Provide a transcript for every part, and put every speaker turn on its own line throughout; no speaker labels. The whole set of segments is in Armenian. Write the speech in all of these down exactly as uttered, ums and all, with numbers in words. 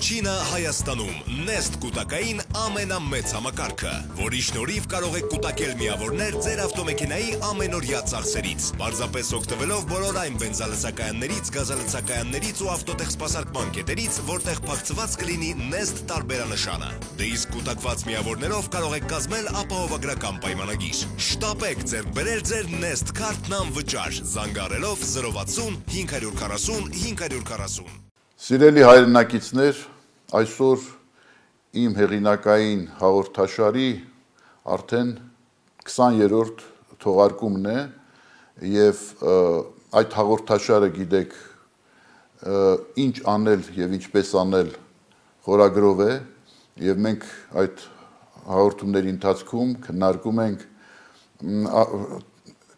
Առաջինը Հայաստանում Nest կուտակային ամենամեծ համակարգը, որի շնորհիվ կարող եք կուտակել միավորներ ձեր ավտոմեքենայի ամենօրյա ծախսերից, պարզապես օգտվելով բոլոր այն բենզալցակայաններից, գազալցակայաններից ու ավտոտեխսպասարկման կետերից, որտեղ փակցված կլինի Nest տարբերանշանը։ Դե իսկ կուտակված միավորներով կարող եք կազմել ապահովագրական պայմանագիր։ Շտապեք ձեռք բերել ձեր Nest քարտն անվճար, զանգահարելով զրո վաթսուն հինգ հարյուր քառասուն հինգ հարյուր քառասուն։
Սիրելի հայրենակիցներ, այսօր իմ հեղինակային հաղորդաշարի արդեն քսաներորդ թողարկումն է եւ այդ հաղորդաշարը գիտեք ինչ անել եւ ինչպես անել խորագրով է եւ մենք այդ հաղորդումների ընթացքում քննարկում ենք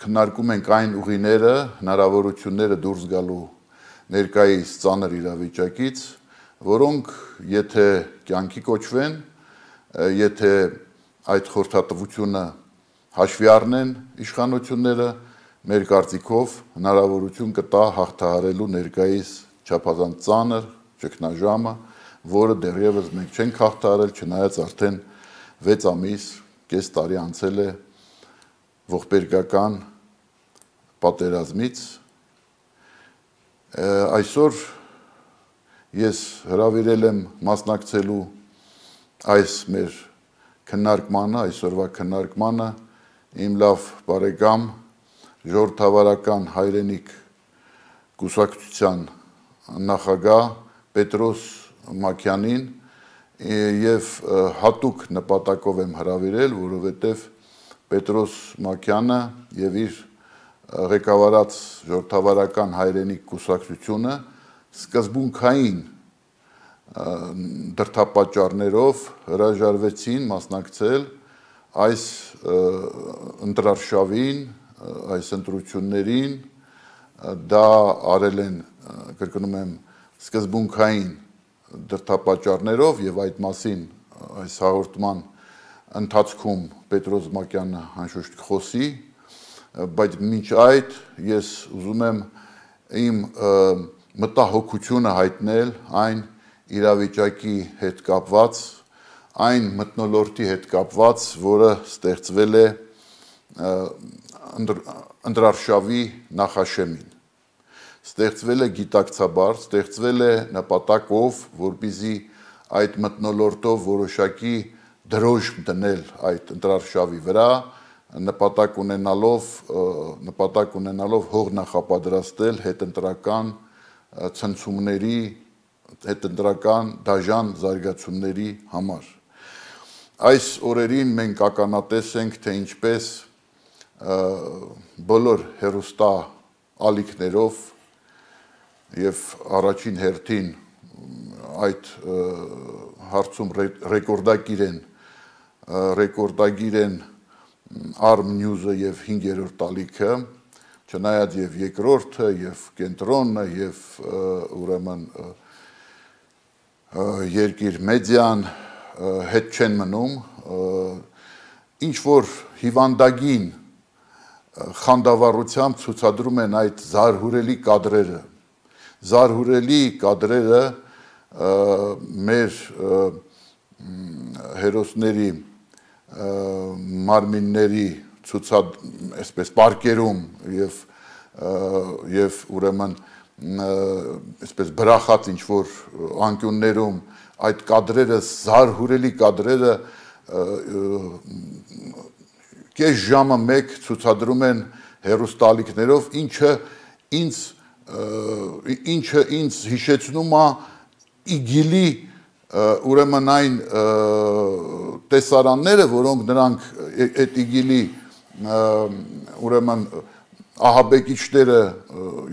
քննարկում ենք այն ուղիները, հնարավորությունները դուրս գալու ներկայիս ծանր իրավիճակից, որոնք եթե կյանքի կոչվեն, եթե այդ խորհրդատվությունը հաշվի առնեն իշխանությունները, մեր կարծիքով հնարավորություն կտա հաղթահարելու ներկայիս չափազանց ծանր ճգնաժամը, որը դեռևս մենք չենք հաղթահարել, չնայած արդեն վեց ամիս, կես տարի անցել է ողբերգական պատերազմից։ Այսօր ես հրավիրել եմ մասնակցելու այս մեր քննարկմանը, այսօրվա քննարկմանը իմ լավ բարեկամ ժողովրդավարական հայրենիք կուսակցության նախագահ Պետրոս Մակյանին եւ հատուկ նպատակով եմ հրավիրել, որովհետեւ Պետրոս Մակյանը եւ իր ղեկավարած ժողովրդավարական հայրենիք կուսակցությունը սկզբունքային դրդապատճառներով հրաժարվեցին մասնակցել այս ընտրարշավին, այս ընտրություններին, դա արել են, կրկնում եմ, սկզբունքային դրդապատճառներով եւ այդ մասին այս հաղորդման ընթացքում Պետրոս Մակյանը անշուշտ կխոսի, բայց մինչ այդ ես ուզում եմ իմ մտահոգությունը հայտնել այն իրավիճակի հետ կապված, այն մթնոլորտի հետ կապված, որը ստեղծվել է ընտրարշավի նախաշեմին։ Ստեղծվել է գիտակցաբար, ստեղծվել է նպատակով, որպեսզի այդ մթնոլորտով որոշակի դրոշ դնել այդ ընտրարշավի վրա, նպատակ ունենալով նպատակ ունենալով հող նախապատրաստել հետընտրական ցնցումների, հետընտրական դաժան զարգացումների համար։ Այս օրերին մենք ականատես ենք, թե ինչպես բոլոր հեռուստա ալիքներով եւ առաջին հերթին այդ հարցում ռեկորդագիր են ռեկորդագիր են Arm News-ը եւ հինգերորդ ալիքը, չնայած եւ երկրորդը եւ կենտրոնը եւ ուրեմն երկիր մեդիան հետ չեն մնում, ինչ որ հիվանդագին խանդավառությամբ ցուցադրում են այդ զարհուրելի կադրերը, զարհուրելի կադրերը մեր հերոսների մարմինների ցուցած այսպես պարկերում եւ եւ ուրեմն այսպես բրախած ինչ որ անկյուններում այդ կադրերը զարհուրելի կադրերը կես ժամը մեկ ցուցադրում են հեռուստալիքներով, ինչը ինձ ինչը ինձ հիշեցնում է իգիլի ուրեմն այն տեսարանները, որոնք նրանք այդ իգիլի ուրեմն ահաբեկիչները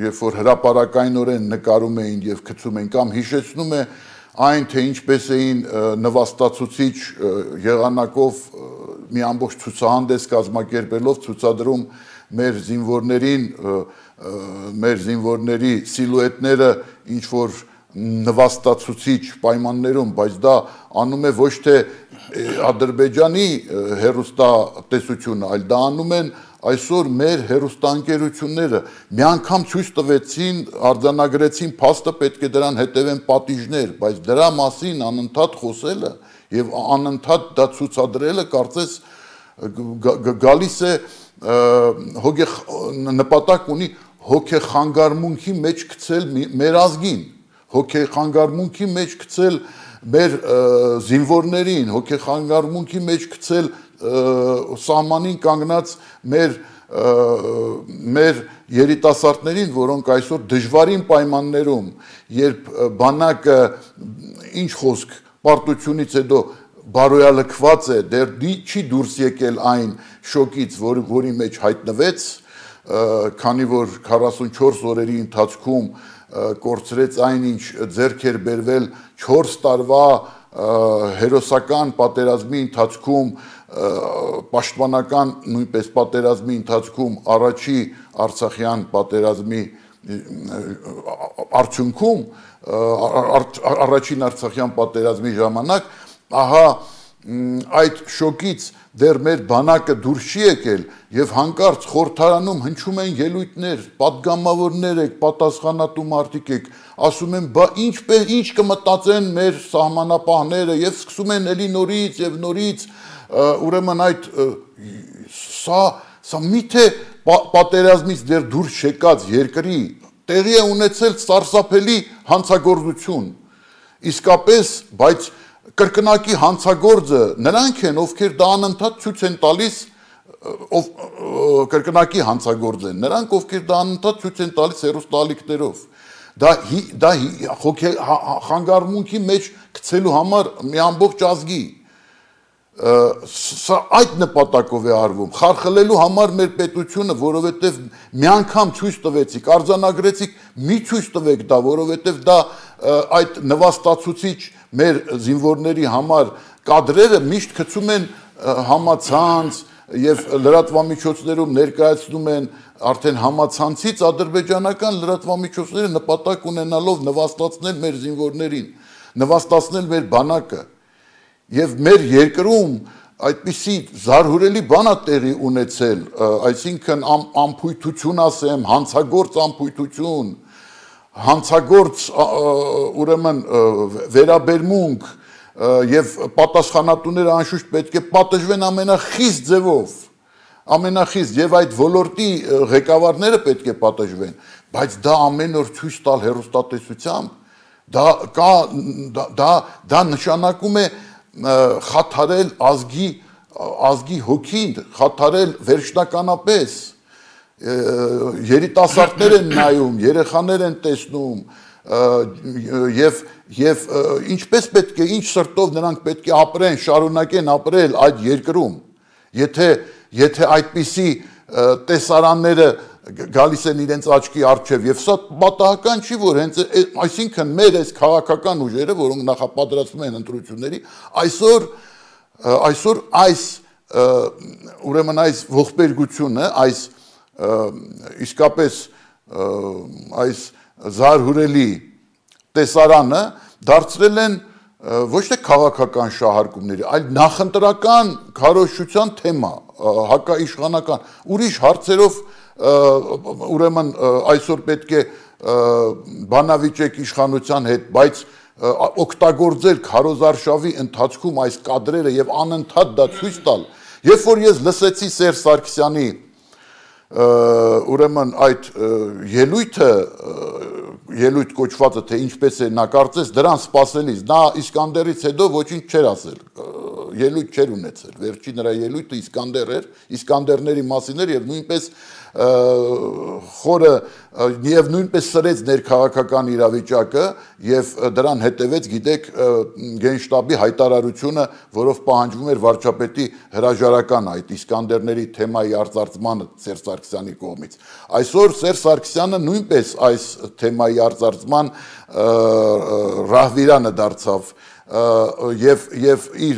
երբ որ հրապարակայնորեն նկարում էին եւ գցում էին կամ հիշեցնում է այն թե ինչպես էին նվաստացուցիչ եղանակով մի ամբողջ ցուցահանդես կազմակերպելով ցուցադրում մեր զինվորներին մեր զինվորների սիլուետները ինչ որ նվաստացուցիչ պայմաններում, բայց դա անում է ոչ թե Ադրբեջանի հեռուստատեսությունը, այլ դա անում են այսօր մեր հերոստանգերությունները մի անգամ ցույց տվեցին, արձանագրեցին, փաստը պետք է դրան հետևեն պատիժներ, բայց դրա մասին անընդհատ խոսելը եւ անընդհատ դա ցուցադրելը կարծես գալիս է հոգե նպատակ ունի հոգեխանգարմունքի մեջ գցել մեր ազգին, հոգեխանգարմունքի մեջ գցել մեր զինվորներին, հոգեխանգարմունքի մեջ գցել սահմանին կանգնած մեր մեր երիտասարդներին, որոնք այսօր դժվարին պայմաններում, երբ բանակը ինչ խոսք պարտությունից հետո բարոյալքված է, դեռ չի դուրս եկել այն շոկից, որ, որի մեջ հայտնվեց, քանի որ քառասունչորս օրերի ընթացքում կորցրեց այն, ինչ ձեռք էր բերվել չորս տարվա հերոսական պատերազմի ընթացքում, պաշտպանական նույնպես պատերազմի ընթացքում, առաջի Արցախյան պատերազմի արդյունքում, առաջին Արցախյան պատերազմի ժամանակ, ահա այդ շոկից դեռ մեր բանակը դուրս չի եկել եւ հանկարծ խորհրդարանում հնչում են ելույթներ, պատգամավորներ եք, պատասխանատու մարդիկ եք, ասում են, բա ինչպես ինչ կմտածեն մեր սահմանապահները եւ սկսում են էլի նորից եւ նորից, ուրեմն այդ սա սա միթե պատերազմից դեռ դուրս եկած երկրի տեղի է ունեցել սարսափելի հանցագործություն, իսկապես, բայց կրկնակի հանցագործը նրանք են, ովքեր դա անընդհատ ցույց են տալիս, ով կրկնակի հանցագործ են, նրանք ովքեր դա անընդհատ ցույց են տալիս հերոստալիքներով, դա դա խանգարմունքի մեջ գցելու համար մի ամբողջ ազգի, սա այդ նպատակով է արվում, խարխլելու համար մեր պետությունը, որովհետև մի անգամ ցույց տվեցիք, արձանագրեցիք, մի ցույց տվեք դա, որովհետև դա այդ նվաստացուցիչ մեր զինվորների համար կադրերը միշտ գցում են համացանց եւ լրատվամիջոցներում ներկայացնում են արդեն համացանցից ադրբեջանական լրատվամիջոցները նպատակ ունենալով նվաստացնել մեր զինվորներին, նվաստացնել մեր բանակը եւ մեր երկրում այդպիսի զարհուրելի բան է տեղի ունեցել, այսինքն ամփոյթություն ասեմ, հանցագործ ամփոյթություն, հանցագործ ուրեմն վերաբերմունք եւ պատասխանատուները անշուշտ պետք է պատժվեն ամենախիստ ձևով, ամենախիստ եւ այդ ոլորտի ղեկավարները պետք է պատժվեն, բայց դա ամեն օր ցույց տալ հերոստատեսությամբ, դա կա դա դա նշանակում է խաթարել ազգի ազգի հոգին, խաթարել վերջնականապես երիտասարդներ են նայում, երեխաներ են տեսնում եւ եւ ինչպես պետք է, ինչ սրտով նրանք պետք է ապրեն, շարունակեն ապրել այդ երկրում, եթե եթե այդպիսի տեսարանները գալիս են իրենց աչքի առջև եւ սա պատահական չի, որ հենց այսինքն մեր այս քաղաքական ուժերը, որոնք նախապատրաստվում են ընտրությունների, այսօր այսօր այս ուրեմն այս ողբերգությունը, այս իսկապես այս զարհուրելի տեսարանը դարձրել են ոչ թե քաղաքական շահարկումների, այլ նախընտրական քարոզչության թեմա, հակաիշխանական, ուրիշ հարցերով ուրեմն այսօր պետք է բանավիճեք իշխանության հետ, բայց օգտագործել քարոզարշավի ընթացքում այս կադրերը եւ անընդհատ դա ցույց տալ, երբ որ ես լսեցի Սերժ Սարգսյանի ուրեմն այդ ելույթը, ելույթ կոչվածը, թե ինչպես է նա կարծես դրան սպասելիս, նա Իսկանդերից հետո ոչինչ չէր ասել, ելույթ չէր ունեցել, վերջի նրա ելույթը Իսկանդեր էր, Իսկանդերների մասին էր եւ նույնպես խորը եւ նույնպես սրեց ներքաղաքական իրավիճակը եւ դրան հետեւեց, գիտեք, գենշտաբի հայտարարությունը, որով պահանջվում էր վարչապետի հրաժարական այդ Իսկանդերների թեմայի արծարծմանը Սերժ Սարգսյանի կողմից։ Այսօր Սերժ Սարգսյանը նույնպես այս թեմայի արծարծման ռահվիրանը դարձավ եւ եւ իր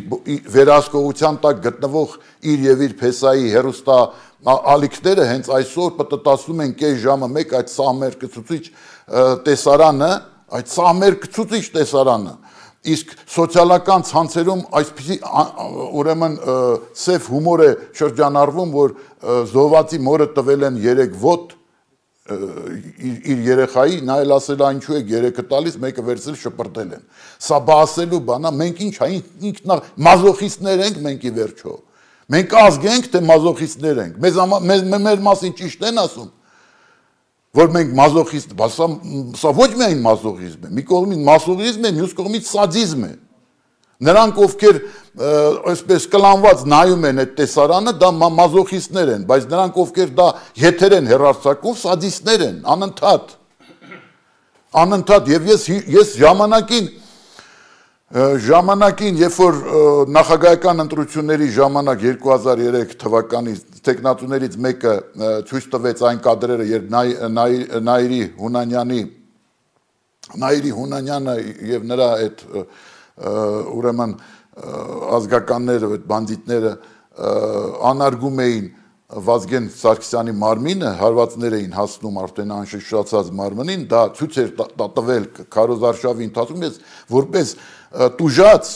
վերահսկողության տակ գտնվող իր եւ իր փեսայի հերոստա ալիքները հենց այսօր պտտացնում են կես ժամը մեկ այդ սահմերկցուցիչ տեսարանը, այդ սահմերկցուցիչ տեսարանը իսկ սոցիալական ցանցերում այսպիսի ուրեմն սև հումոր է շրջանառվում, որ զոհվածի մորը տվել են երեք ոտ իր երեխայի, նա էլ ասել է ինչու եք երեքը տալիս, մեկը վերցրել շպրտել են։ Սա բա ասելու բան է, մենք ինչ է, ինքնա մազոխիստներ ենք մենք ի վերջո։ Մենք ազգ ենք, թե մազոխիստներ ենք։ Մեզ մեր մասին ճիշտ են ասում, որ մենք մազոխիստ, բա սա ոչ միայն մազոխիզմ է, մի կողմից մազոխիզմ է, մյուս կողմից սադիզմ է։ Նրանք ովքեր այսպես կլանված նայում են այդ տեսարանը, դա մազոխիստներ են, բայց նրանք ովքեր դա եթեր են հեռարձակում, սադիստներ են, անընդհատ։ Անընդհատ եւ ես ես ժամանակին ժամանակին, երբ որ նախագահական ընտրությունների ժամանակ երկու հազար երեք թվականի տեխնատուներից մեկը ցույց տվեց այն կադրերը, երբ Նաիրի Հունանյանի Նաիրի Հունանյանը եւ նրա այդ ուրեմն ազգականները, այդ բանդիտները անարգում էին Վազգեն Սարգսյանի մարմինը, հարվածներ էին հասնում արդեն անշշացած մարմնին, դա ցույց էր տվել քարոզարշավի ընթացքում, ես որպես տուժած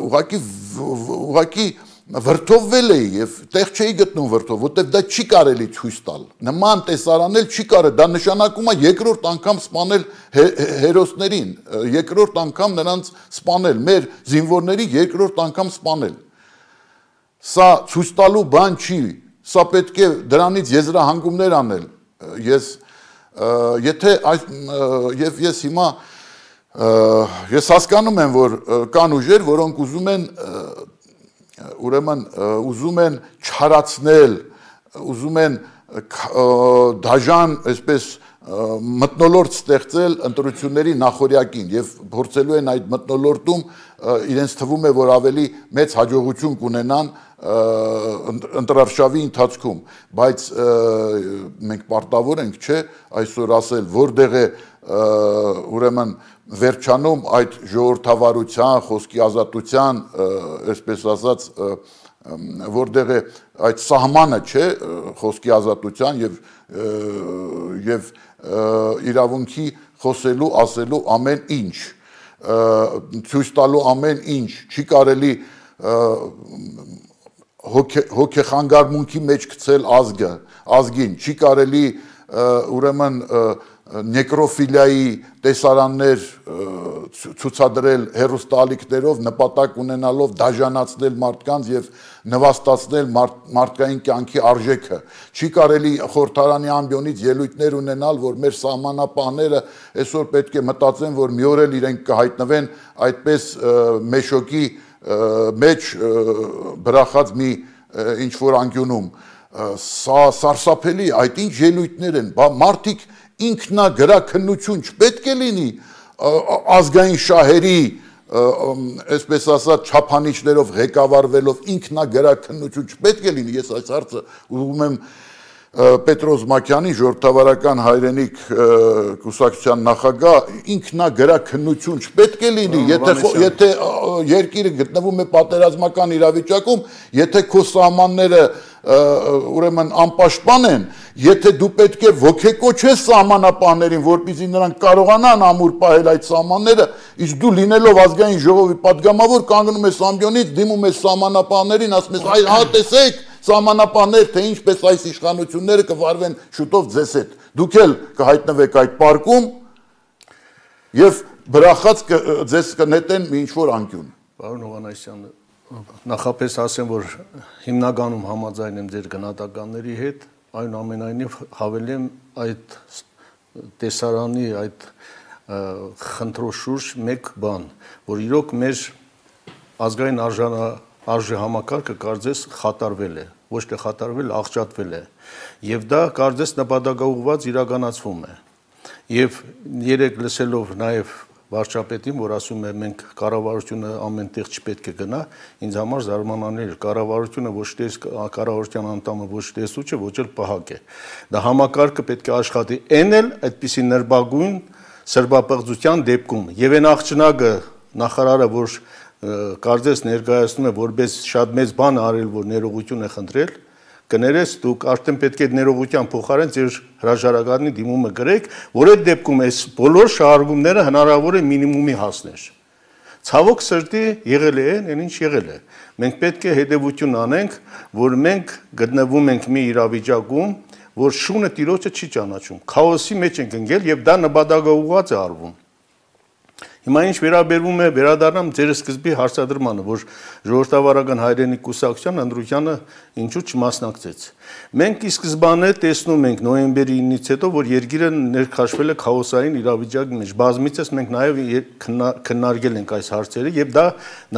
ուղղակի ուղղակի վրդովվել էի եւ տեղ չէի գտնում վրդով, որտեվ դա չի կարելի ցույց տալ։ Նման տեսարանել չի կարելի, դա նշանակում է երկրորդ անգամ սպանել հերոսներին, երկրորդ անգամ նրանց սպանել, մեր զինվորների երկրորդ անգամ սպանել։ Սա ցույց տալու բան չի, սա պետք է դրանից եզրահանգումներ անել։ Ես եթե այս եւ ես հիմա ես հասկանում եմ, որ կան ուժեր, որոնք ուզում են ուրեմն ուզում են չարացնել, ուզում են դաժան, այսպես մթնոլորտ ստեղծել ընտրությունների նախօրյակին եւ փորձելու են այդ մթնոլորտում իրենց թվում է, որ ավելի մեծ հաջողություն կունենան ընտրարշավի ընթացքում, բայց մենք պարտավոր ենք, չէ, այսօր ասել, որտեղ է ուրեմն վերջանում այդ ժողովրդավարության, խոսքի ազատության, այսպես ասած, որտեղ է այդ սահմանը, չէ, խոսքի ազատության եւ եւ իրավունքի խոսելու, ասելու ամեն ինչ, ցույց տալու ամեն ինչ, չի կարելի հոգեխանգարմունքի մեջ գցել ազգը, ազգին, չի կարելի ուրեմն նեկրոֆիլիայի տեսարաններ ցուցադրել հեռուստաալիքներով, նպատակ ունենալով դաժանացնել մարդկանց եւ նվաստացնել մարդկային կյանքի արժեքը։ Չի կարելի խորհրդարանի ամբիոնից ելույթներ ունենալ, որ մեր սահմանապահները այսօր պետք է մտածեն, որ մի օր էլ իրենք կհայտնվեն այդպես մեշոկի մեջ բրախած մի ինչ որ անկյունում։ Սա սարսափելի, այդ ինչ ելույթներ են, մարդիկ ինքնագրաքննություն չպետք է լինի ազգային շահերի, այսպես ասած, չափանիշներով ղեկավարվելով ինքնագրաքննություն չպետք է լինի, ես այս հարցը ուղղում եմ Պետրոս Մակյանի ժողովրդավարական հայրենիք կուսակցության նախագահ, ինքնագրաքննություն չպետք է լինի, եթե երկիրը գտնվում է պատերազմական իրավիճակում, եթե քո սահմանները ուրեմն անպաշտպան են, եթե դու պետք է ոգեկոչես սահմանապահներին, որպեսզի նրանք կարողանան ամուր պահել այդ սահմանները, իսկ դու լինելով ազգային ժողովի պատգամավոր կանգնում ես ամբիոնից, դիմում ես սահմանապահներին, ասում ես, այ հա տեսեք, սահմանապահներ, թե ինչպես այս իշխանությունները կվարվեն շուտով ձեզ հետ։ Դուք էլ կհայտնվեք այդ պարկում եւ բրախած ձեզ կնետեն մի ինչ-որ անկյուն։
Պարոն Հովհաննիսյան, նախապես ասեմ, որ հիմնականում համաձայն եմ ձեր գնահատականների հետ, այնուամենայնիվ հավելեմ այդ տեսարանի, այդ խնդրոշուրջ մեկ բան, որ իրոք մեր ազգային արժանա արժե համակարգը կարծես խաթարվել է, ոչ թե խաթարվել, աղճատվել է, եւ դա կարծես նպատակաուղղված իրականացվում է։ Եվ երեք լսելով նաեւ վարչապետին, որ ասում է մենք կառավարությունը ամենտեղ չպետք է գնա, ինձ համար զարմանալի է, կառավարությունը ոչ թե կառավարության անդամը ոչ թե սուչ է, ոչ էլ պահակ է։ Դա համակարգը պետք է աշխատի այն էլ այդպիսի նրբագույն սրբապղծության դեպքում։ Եվ այն աղջնակը նախարարը, որ կարծես ներկայացնում է որպես շատ մեծ բան արել, որ ներողություն է խնդրել, կներես դուք արդեն պետք է ներողության փոխարեն ձեր հրաժարականի դիմումը գրեք, որ այդ դեպքում այս բոլոր շահարկումները հնարավոր է մինիմումի հասներ։ Ցավոք սրտի եղել է, այն ինչ եղել է։ Մենք պետք է հետևություն անենք, որ մենք գտնվում ենք մի իրավիճակում, որ շունը տիրոջը չի ճանաչում։ Քաոսի մեջ ենք ընկել եւ դա նպատակաուղղված է արվում։ Հիմա ինչ վերաբերվում է վերադառնամ ձեր սկզբի հարցադրմանը, որ ժողովրդավարական հայրենիք կուսակցության ընդրությանը ինչու չմասնակցեց։ Մենք ի սկզբանե տեսնում ենք նոյեմբերի ինից հետո, որ երկիրը ներքաշվել է քաոսային իրավիճակի մեջ։ Բազմիցս մենք նաև քննարկել ենք այս հարցերը եւ դա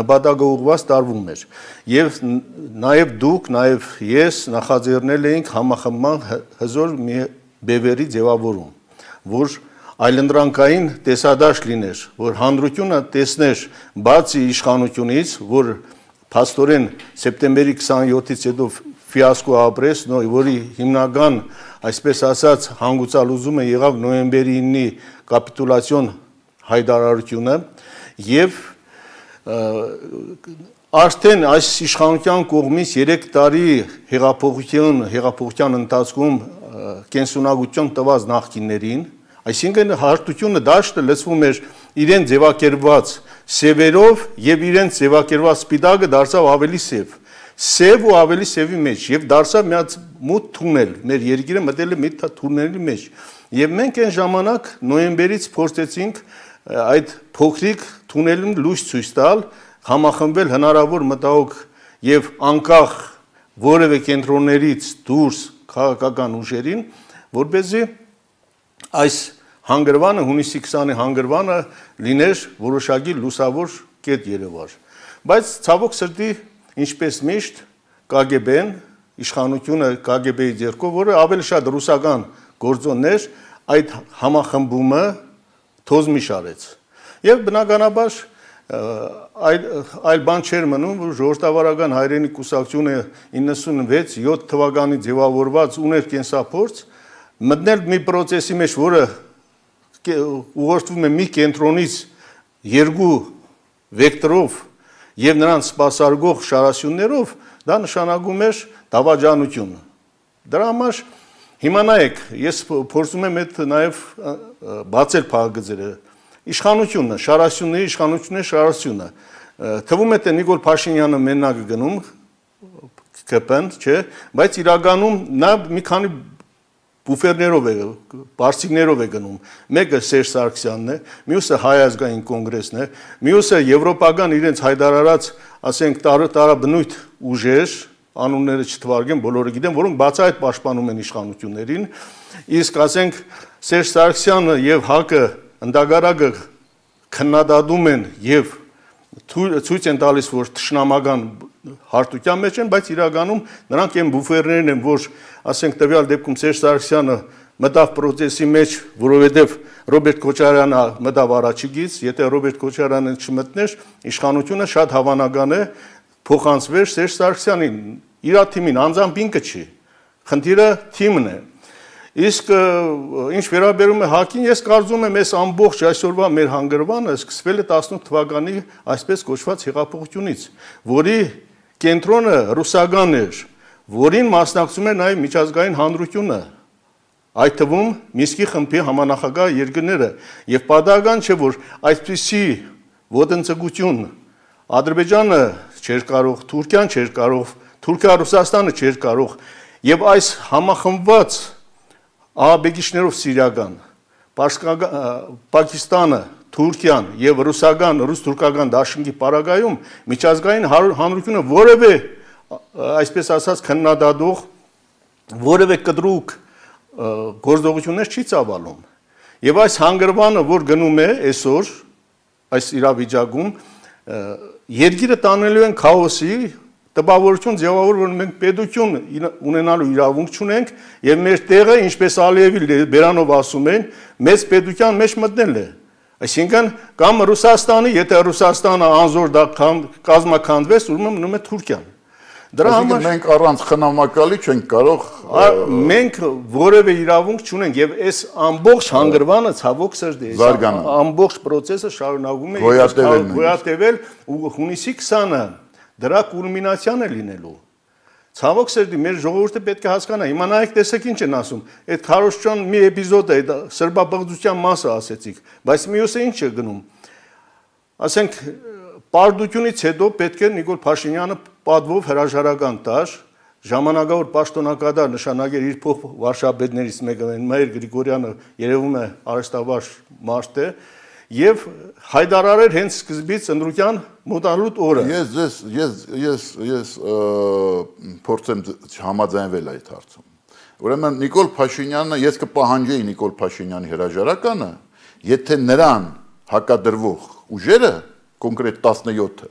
նպատակաուղղված տարվում էր։ Եվ նաև դուք, նաև ես նախաձեռնել էինք համախմբման հզոր մի բևերի ձևավորում, որ այլընտրանքային տեսադաշտ լիներ, որ հանրությունը տեսներ բացի իշխանությունից, որ փաստորեն սեպտեմբերի քսաներկուից հետո ֆիասկո ապրեց, որի հիմնական, այսպես ասած, հանգուցալուզումը եղավ նոյեմբերի ինի կապիտուլյացիոն հայտարարությունը եւ արդեն այս իշխանության կողմից երեք տարի հեղափոխության հեղափոխության ընթացքում կենսունակություն տված նախկիններին, այսինքն հարթությունը դաշտը լցվում էր իրեն ձևակերպված սևերով եւ իրեն ձևակերպված սպիտակը դարձավ ավելի սև, սև ու ավելի սևի մեջ եւ դարձավ մի հատ մութ թունել, մեր երկիրը մտել է մի թունելի մեջ եւ մենք այն ժամանակ նոյեմբերից փորձեցինք այդ փոքրիկ թունելին լույս ցույց տալ, համախմբել հնարավոր մտահոգ եւ անկախ որևէ կենտրոններից դուրս քաղաքական ուժերին, որպեսզի այս հանգրվանը հունիսի քսանի հանգրվանը լիներ որոշակի լուսավոր կետ երևար։ Բայց ցավոք սրտի, ինչպես միշտ Կ Գ Բ-ն, իշխանությունը Կ Գ Բ-ի ձեռքով, որը ավելի շատ ռուսական գործոններ, այդ համախմբումը թոզմի շարեց։ Եվ բնականաբար այլ այլ բան չէր մնում, որ ժողովրդավարական հայրենիք կուսակցությունը իննսունվեց յոթ թվականի ձևավորված ուներ կենսափորձ մտնել մի process-ի մեջ, որը ուղղորդվում է մի կենտրոնից երկու վեկտորով եւ նրանց սպասարկող շարասյուններով, դա նշանակում էր դավաճանություն։ Դրա համար հիմա նայեք, ես փորձում եմ այդ նաեւ բացել փակագծերը։ Իշխանությունը, շարասյունների իշխանությունների շարասյունը։ Թվում է թե Նիկոլ Փաշինյանը մենակ գնում Կ Բ-ն, չէ, բայց իրականում նա մի քանի բուֆերներով է, բարձիկներով է գնում։ Մեկը Սերժ Սարգսյանն է, մյուսը Հայ ազգային կոնգրեսն է, մյուսը եվրոպական իրենց հայտարարած, ասենք, տարաբնույթ ուժեր, անունները չթվարկեմ, բոլորը գիտեն, որոնք բացահայտ պաշտպանում են իշխանություններին, իսկ ասենք Սերժ Սարգսյանը եւ ՀԱԿ-ը ընդհանրակը քննադատում են եւ ցույց են տալիս, որ թշնամական հարթության մեջ են, բայց իրականում նրանք այն բուֆերներն են, որ ասենք տվյալ դեպքում Սերժ Սարգսյանը մտավ process-ի մեջ, որովհետև Ռոբերտ Քոչարյանը մտավ առաջիկից, եթե Ռոբերտ Քոչարյանը չմտներ, իշխանությունը շատ հավանական է փոխանցվեր Սերժ Սարգսյանին, իր թիմին, անձամբ ինքը չի։ Խնդիրը թիմն է։ Իսկ ինչ վերաբերում է ՀԱԿ-ին, ես կարծում եմ, այս ամբողջ այսօրվա մեր հանգրվանը սկսվել է տասնութ թվականի այսպես կոչված հեղափոխությունից, որի կենտրոնը ռուսական էր, որին մասնակցում էր նաև միջազգային հանրությունը, այդ թվում Մինսկի խմբի համանախագահ երկրները, եւ պատահական չէ, որ այսպիսի ոտնձգություն Ադրբեջանը չէր կարող, Թուրքիան չէր կարող, Թուրքիա-Ռուսաստանը չէր կարող, եւ այս համախմբված ահաբեկիչներով սիրիական, Պակիստանը, Թուրքիան եւ ռուսական, ռուս-թուրքական դաշինքի պարագայում միջազգային հանրությունը որևէ, այսպես ասած, քննադատող, որևէ կտրուկ գործողություններ չի ծավալում։ Եվ այս հանգրվանը, որ գնում է այսօր, այս իրավիճակում, երկիրը տանելու են քաոսի, տպավորություն ձևավոր, որ մենք պետություն ունենալու իրավունք չունենք եւ մեր տեղը, ինչպես Ալիևի Բերանով ասում են, մեծ պետության մեջ մտնել է։ Այսինքն կամ Ռուսաստանի, եթե Ռուսաստանը անզոր դա կազմաքանդվեց, ուրեմն մնում է Թուրքիան։ Դրա համար
մենք առանց խնամակալի չենք կարող
մենք որևէ իրավունք չունենք եւ այս ամբողջ հանգրվանը ցավոք սրտի ամբողջ process-ը շարունակում է գոյատևել ու հունիսի քսանը դրա կուլմինացիան է լինելու։ Ցավոք սրտի մեր ժողովուրդը պետք է հասկանա, հիմա նայեք տեսեք ինչ են ասում, այդ Քարոշչյան մի էպիզոդ է, սրբապղծության մասը ասեցիք, բայց մյուսը ինչ է գնում։ ասենք պարտությունից հետո պետք է Նիկոլ Փաշինյանը պատվով հրաժարական տար, ժամանակավոր պաշտոնակատար նշանակեր իր փոխ վարշաբեդներից մեկը Մայր Գրիգորյանը երևում է արհեստավար մարդ է եւ հայտարարեր հենց սկզբից ընտրության մոտալուտ օրը։
Ես ես ես ես ես փորձեմ համաձայնվել այդ հարցում։ Ուրեմն Նիկոլ Փաշինյանը, ես կպահանջեի Նիկոլ Փաշինյանի հրաժարականը, եթե նրան հակադրվող ուժերը, կոնկրետ տասնյոթը,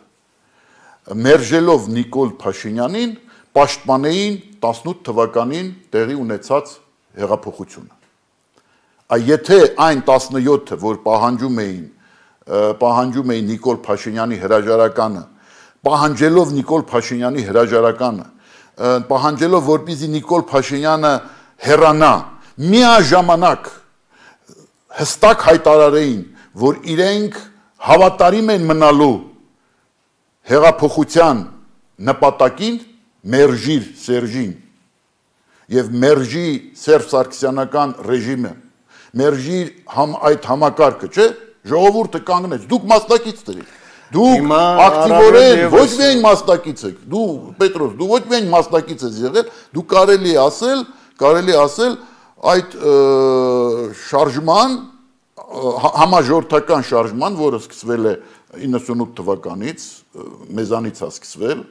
մերժելով Նիկոլ Փաշինյանին, պաշտպանեին տասնութ թվականին տեղի ունեցած հեղափոխությունը։ Այ եթե այն տասնյոթը, որ պահանջում էին, պահանջում էին Նիկոլ Փաշինյանի հրաժարականը, պահանջելով Նիկոլ Փաշինյանի հրաժարականը, պահանջելով որպեսզի Նիկոլ Փաշինյանը հեռանա, միաժամանակ հստակ հայտարարեին, որ իրենք հավատարիմ են մնալու հեղափոխության նպատակին, մերժիր Սերժին եւ մերժի Սերժ Սարգսյանական ռեժիմը, մերժիր համ այդ համակարգը, չէ՞, ժողովուրդը կանգնեց, դուք մասնակից դրեք, դուք ակտիվորեն ոչ միայն մասնակից եք, դու Պետրոս, դու ոչ միայն մասնակից ես եղել, դու կարելի ասել, կարելի ասել այդ շարժման համաժողովրդական շարժման, որը սկսվել է իննսունութ թվականից, մեզանից է սկսվել,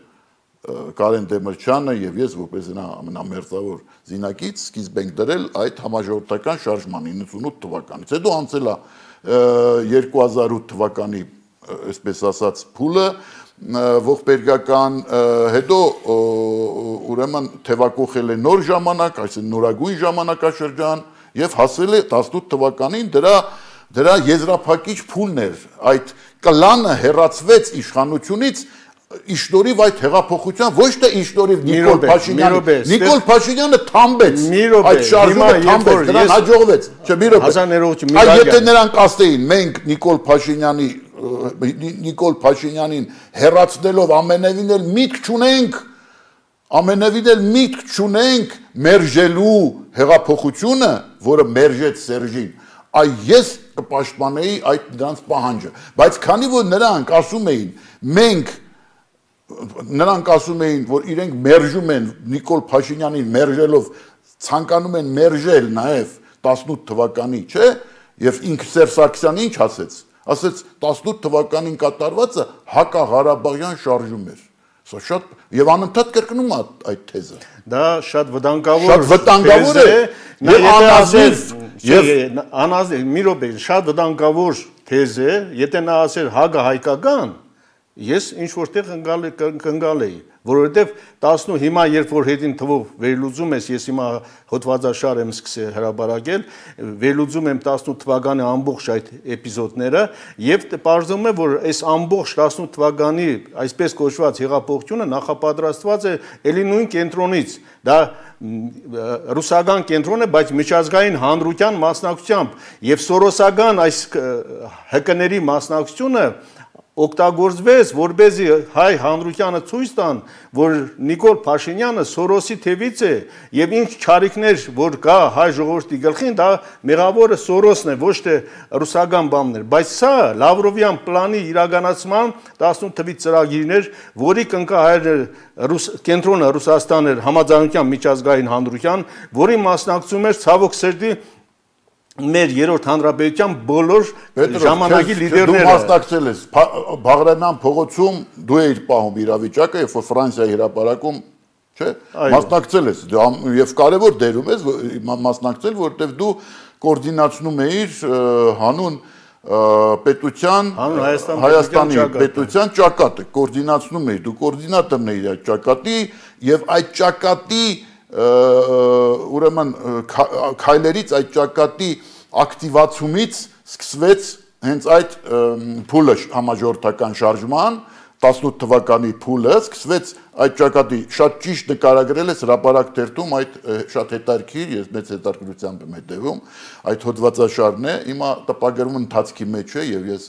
Կարեն Դեմիրճյանը եւ ես որպես նա ամենամերձավոր զինակից սկիզբ ենք դրել այդ համաժողովրդական շարժման իննսունութ թվականից։ Հետո անցել է երկու հազար ութ թվականի, այսպես ասած, փուլը ողբերգական, հետո ուրեմն թևակողել է նոր ժամանակ, այսինքն նորագույն ժամանակաշրջան եւ հասել է տասնութ թվականին դրա դրա եզրափակիչ փուլն էր, այդ կլանը հեռացվեց իշխանությունից Իշնորիվ այդ հեղափոխության ոչ թե իշնորիվ Նիկոլ Փաշինյանը, Նիկոլ Փաշինյանը թամբեց, այդ շարժումը թամբեց, նրան հաջողվեց, չէ՞ մի րոպե։ Այ եթե նրանք ասեին, մենք Նիկոլ Փաշինյանի Նիկոլ Փաշինյանին հեռացնելով ամենևին էլ միտք չունենք, ամենևին էլ միտք չունենք մերժելու հեղափոխությունը, որը մերժեց Սերժին, այ ես կպաշտպանեի այդ նրանց պահանջը, բայց քանի որ նրանք ասում էին, մենք նրանք ասում էին, որ իրենք մերժում են Նիկոլ Փաշինյանին մերժելով, ցանկանում են մերժել նաև տասնութ թվականի, չէ՞, եւ ինքը Սերժ Սարգսյանը ինչ ասեց, ասեց տասնութ թվականին կատարվածը հակաղարաբաղյան շարժում էր։ Սա շատ եւ անընդհատ կրկնում է այդ թեզը։
Դա շատ վտանգավոր
շատ վտանգավոր է եւ անազնիվ եւ
անազնիվ մի րոպե, շատ վտանգավոր թեզ է, եթե նա ասեր հագը հայկական Ես ինչ-որտեղ կնգալ էի, որովհետև տասնու հիմա երբ որ հետին թվով վերլուծում ես, ես հիմա հոդվածաշար եմ սկսել հրապարակել, վերլուծում եմ տասնութ թվականի ամբողջ այդ էպիզոդները եւ պարզվում է, որ այս ամբողջ տասնութ թվականի այսպես կոչված հեղափոխությունը նախապատրաստված է ելի նույն կենտրոնից, դա ռուսական կենտրոն է, բայց միջազգային հանրության մասնակցությամբ եւ սորոսական այս հկների մասնակցությունը օգտագործվեց, որպեսզի հայ հանրությանը ցույց տան, որ Նիկոլ Փաշինյանը Սորոսի թևից է եւ ինչ չարիքներ, որ կա հայ ժողովրդի գլխին, դա մեղավորը Սորոսն է, ոչ թե ռուսական բաններ, բայց սա Լավրովյան պլանի իրականացման տասնութ թվի ծրագիրն էր, որի կնկա հայր ռուս կենտրոնը Ռուսաստան էր համաձայնության միջազգային հանրության, որի մասնակցում էր ցավոք սրտի մեր երրորդ հանրապետության բոլոր ժամանակի լիդերները։
Դու մասնակցել ես Բաղրամյան փողոցում, դու էիր պահում իրավիճակը, երբ որ Ֆրանսիայի հրապարակում, չէ՞, մասնակցել ես եւ կարեւոր դերում ես մասնակցել, որովհետեւ դու կոորդինացնում էիր հանուն պետության Հայաստանի պետության ճակատը, կոորդինացնում էիր, դու կոորդինատորն էիր այդ ճակատի եւ այդ ճակատի ուրեմն քայլերից այդ ճակատի ակտիվացումից սկսվեց հենց այդ փուլը համաժողովրդական շարժման տասնութ թվականի փուլը սկսվեց այդ ճակատի շատ ճիշտ նկարագրել ես հրապարակ թերթում այդ շատ հետաքրքիր ես մեծ հետաքրքրությամբ եմ հետևում այդ հոդվածաշարն է հիմա տպագրվում ընթացքի մեջ է եւ ես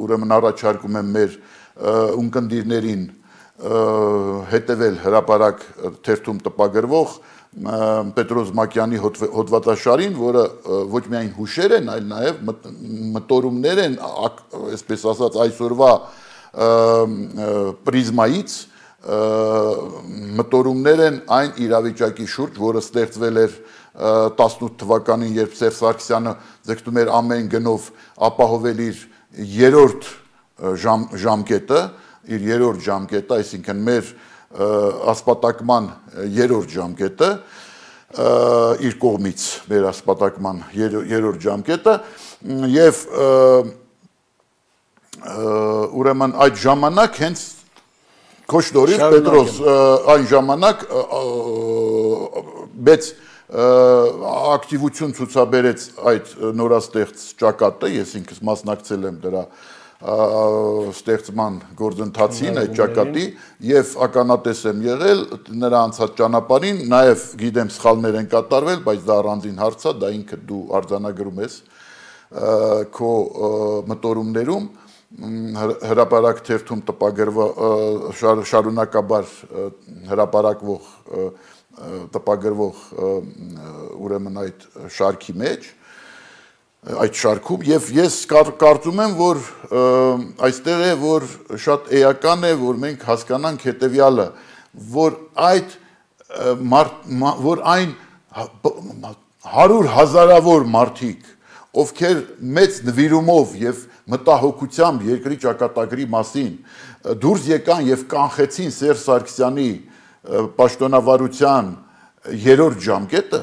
ուրեմն առաջարկում եմ մեր ունկնդիրներին հետևել հրապարակ թերթում տպագրվող Պետրոս Մակյանի հոդվածաշարին, որը ոչ միայն հուշեր են, այլ նաև մտորումներ են, այսպես ասած, այսօրվա պրիզմայից մտորումներ են այն իրավիճակի շուրջ, որը ստեղծվել էր տասնութ թվականին, երբ Սերժ Սարգսյանը ձգտում էր ամեն գնով ապահովել իր երրորդ ժամկետը, իր երրորդ ժամկետը, այսինքն մեր ասպատակման երրորդ ժամկետը, իր կողմից մեր ասպատակման երրորդ ժամկետը, եւ ուրեմն այդ ժամանակ հենց Քոշտորից Պետրոս այն ժամանակ մեծ ակտիվություն ցուցաբերեց այդ նորաստեղծ ճակատը, ես ինքս մասնակցել եմ դրա ստեղծման գործընթացին այդ ճակատի եւ ականատես եմ եղել նրա անցած ճանապարհին, նաեւ գիտեմ սխալներ են կատարվել, բայց դա առանձին հարց է, դա ինքը դու արձանագրում ես քո մտորումներում հրապարակ թերթում տպագրվող շարունակաբար հրապարակվող տպագրվող ուրեմն այդ շարքի մեջ այդ շարքում եւ ես կարծում եմ, որ այստեղ է, որ շատ էական է, որ մենք հասկանանք հետեւյալը, որ այդ որ այն հարյուր հազարավոր մարդիկ, ովքեր մեծ նվիրումով եւ մտահոգությամբ երկրի ճակատագրի մասին դուրս եկան եւ կանխեցին Սերժ Սարգսյանի պաշտոնավարության երրորդ ժամկետը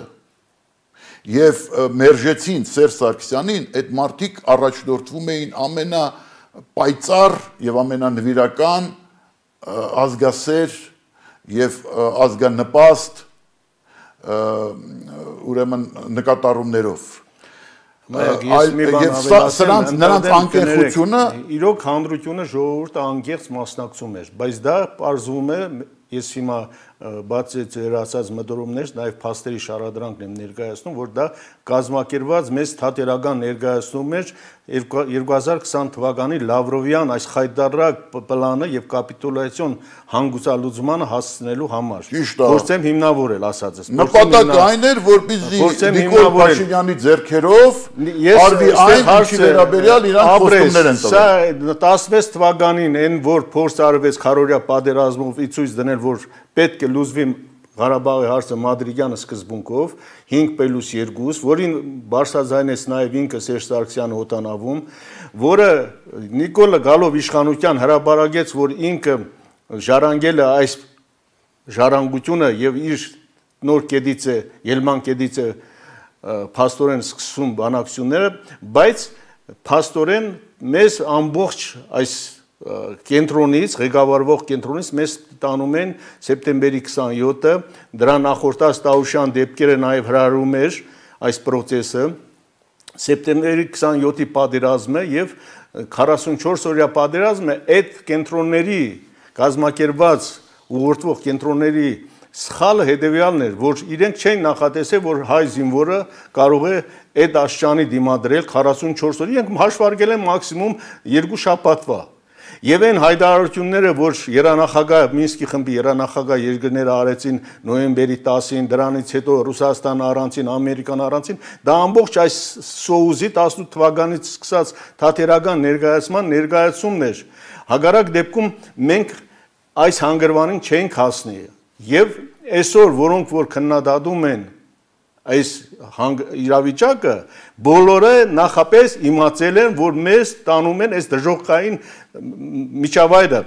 եւ մերժեցին Սերժ Սարգսյանին, այդ մարդիկ առաջնորդվում էին ամենապայծառ եւ ամենանվիրական ազգասեր եւ ազգանպաստ ուրեմն նկատառումներով եւ սրանց նրանց անկեղությունը
իրոք հանրությունը ժողովուրդը անկեղծ մասնակցում էր, բայց դա պարզվում է, ես հիմա բացի ձեր ասած մտորումներից նաև փաստերի շարադրանքն եմ ներկայացնում, որ դա կազմակերպված մեծ թատերական ներկայացնում էր երկու հազար քսան թվականի Լավրովյան այս խայտարակ պլանը եւ կապիտուլյացիոն հանգուցալուծմանը հասցնելու համար։ Փորձեմ հիմնավորել ասածս։
Նպատակը այն էր, որպեսզի Նիկոլ Փաշինյանի ձեռքերով արվի այն, ինչի վերաբերյալ իրանք խոստումներ են տվել։
Սա տասնվեց թվականին այն, որ փորձ արվեց քարորյա պատերազմով ի ցույց դնել, որ պետք է լուծվի Ղարաբաղի հարցը Մադրիդյան սկզբունքով հինգ պլյուս երկու, որին բարձրաձայնեց նաև ինքը Սերժ Սարգսյանը օտանավում, որը Նիկոլը գալով իշխանության հրապարակեց, որ ինքը ժառանգել է այս ժառանգությունը եւ իր նոր կեդիցը, ելման կեդիցը փաստորեն սկսում բանակցությունները, բայց փաստորեն մեզ ամբողջ այս կենտրոնից, ղեկավարվող կենտրոնից մեզ տանում են սեպտեմբերի քսանյոթը, դրա նախորդած Տաուշյան դեպքերը նաև հրահրում էր այս process-ը, սեպտեմբերի քսանյոթի պատերազմը եւ քառասունչորս օրյա պատերազմը այդ կենտրոնների կազմակերպված ուղղորդվող կենտրոնների սխալը հետեւյալն էր, որ իրենք չէին նախատեսել, որ հայ զինվորը կարող է այդ աշճանի դիմադրել քառասունչորս օր, իրենք հաշվարկել են մաքսիմում երկու շաբաթվա։ Եվ այն հայտարարությունները, որ երանախագահ Մինսկի խմբի երանախագահ երկրները արեցին նոյեմբերի տասին, դրանից հետո Ռուսաստանը առանցին, Ամերիկան առանցին, դա ամբողջ այս սոուզի տասնութ թվականից սկսած թատերական ներկայացման ներկայացումն էր։ Հակառակ դեպքում մենք այս հանգրվանին չենք հասնի։ Եվ այսօր, որոնք որ քննադատում են այս իրավիճակը, բոլորը նախապես իմացել են, որ մեզ տանում են այս դժոխքային միջավայրը։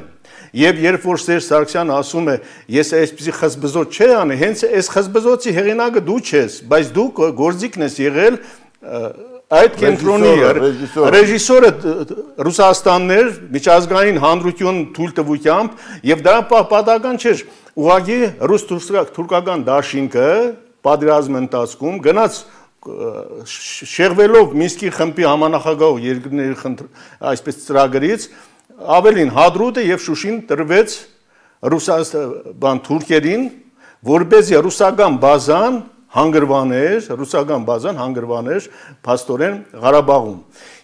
Եվ երբ որ Սերժ Սարգսյանը ասում է, ես այսպեսի խզբզոց չէ անի, հենց այս խզբզոցի հեղինակը դու չես, բայց դու գործիքն ես եղել այդ կենտրոնի ռեժիսորը Ռուսաստանն էր, միջազգային հանրություն թույլտվությամբ, եւ դա պատահական չէր, ուղղակի ռուս-թուրքական դաշինքը պատերազմի ընթացքում գնաց շեղվելով Մինսկի խմբի համանախագահ երկրների այսպես ծրագրից ավելին Հադրուտը եւ Շուշին տրվեց ռուսական թուրքերին, որպեսզի ռուսական բազան հանգրվաներ, ռուսական բազան հանգրվաներ փաստորեն Ղարաբաղում։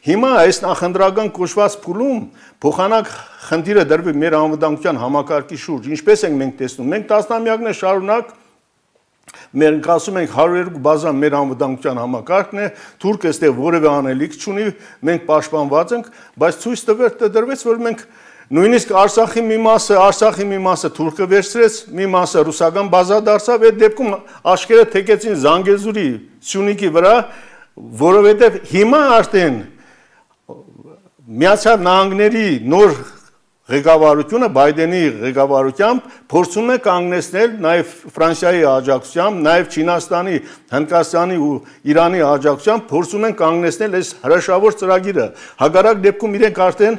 Հիմա այս նախընտրական կոչված փուլում փոխանակ խնդիրը դրվի մեր անվտանգության համակարգի շուրջ, ինչպես ենք մենք տեսնում, մենք տասնամյակներ շարունակ մենք ասում ենք հարյուր երկու բազա մեր անվտանգության համակարգն է, թուրքը այստեղ որևէ անելիք չունի, մենք պաշտպանված ենք, բայց ցույց տրվեց, որ մենք նույնիսկ Արցախի մի մասը, Արցախի մի մասը թուրքը վերցրեց, մի մասը ռուսական բազա դարձավ, այդ դեպքում աչքերը թեքեցին Զանգեզուրի, Սյունիքի վրա, որովհետև հիմա արդեն Միացյալ Նահանգների նոր ղեկավարությունը Բայդենի ղեկավարությամբ փորձում է կանգնեցնել նաև Ֆրանսիայի աջակցությամբ, նաև Չինաստանի, Հնդկաստանի ու Իրանի աջակցությամբ փորձում են կանգնեցնել այս հրաշավոր ծրագիրը։ Հակառակ դեպքում իրենք արդեն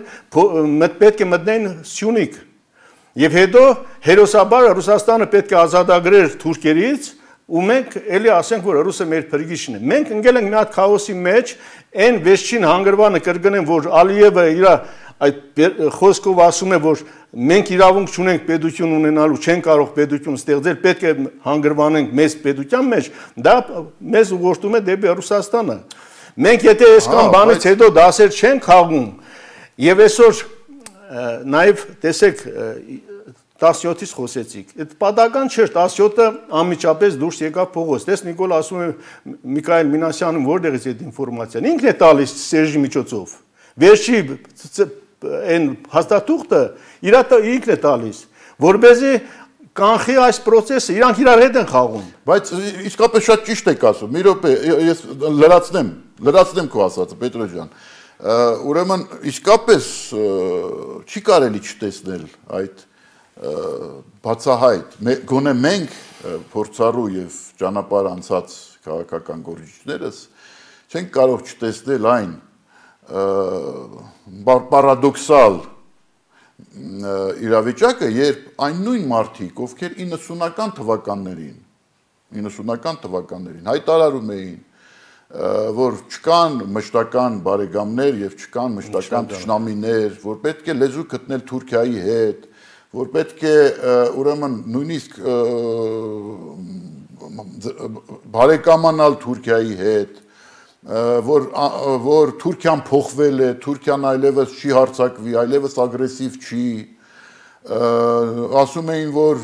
պետք է մտնեն Սյունիք։ Եվ հետո հերոսաբար Ռուսաստանը պետք է ազատագրեր թուրքերից, ու մենք էլի ասենք, որ ռուսը մեր փրկիչն է։ Մենք ընկել ենք մի հատ քաոսի մեջ, այն վերջին հանգրվանը կրկնեմ, որ Ալիևը իր այդ խոսքով ասում է, որ մենք իրավունք չունենք պետություն ունենալու, չենք կարող պետություն ստեղծել, պետք է հանգրվանենք մեծ պետության մեջ, դա մեզ ուղղորդում է դեպի Ռուսաստանը։ Մենք եթե այսքան բանից հետո դասեր չենք խաղում, եւ այսօր նաեւ տեսեք տասնյոթից խոսեցիք։ Այդ պատական չէր, տասնյոթը անմիջապես դուրս եկավ փողոց։ Տես Նիկոլ ասում է Միքայել Մինասյանը որտեղից է այդ ինֆորմացիան։ Ինքն է տալիս Սերժի միջոցով։ Վերջի այն հաստատուղթը իր ինքն է տալիս, որբեզի կանխի այս process-ը, իրանք իրար հետ են խաղում։
Բայց իսկապես շատ ճիշտ եք ասում։ Մի րոպե, ես լրացնեմ, լրացնեմ քո ասածը, Պետրոս ջան։ Ուրեմն իսկապես չի կարելի չտեսնել այդ բացահայտ, գոնե մենք փորձառու եւ ճանապարհ անցած քաղաքական գործիչներս չենք կարող չտեսնել այն պարադոքսալ իրավիճակը, երբ այն նույն մարդիկ, ովքեր իննսունական թվականներին, իննսունական թվականներին հայտարարում էին, որ չկան մշտական բարեկամներ եւ չկան մշտական թշնամիներ, որ պետք է լեզու գտնել Թուրքիայի հետ, որ պետք է ուրեմն նույնիսկ բարեկամանալ Թուրքիայի հետ, որ որ Թուրքիան փոխվել է, Թուրքիան այլևս չի հարձակվի, այլևս ագրեսիվ չի, ասում էին, որ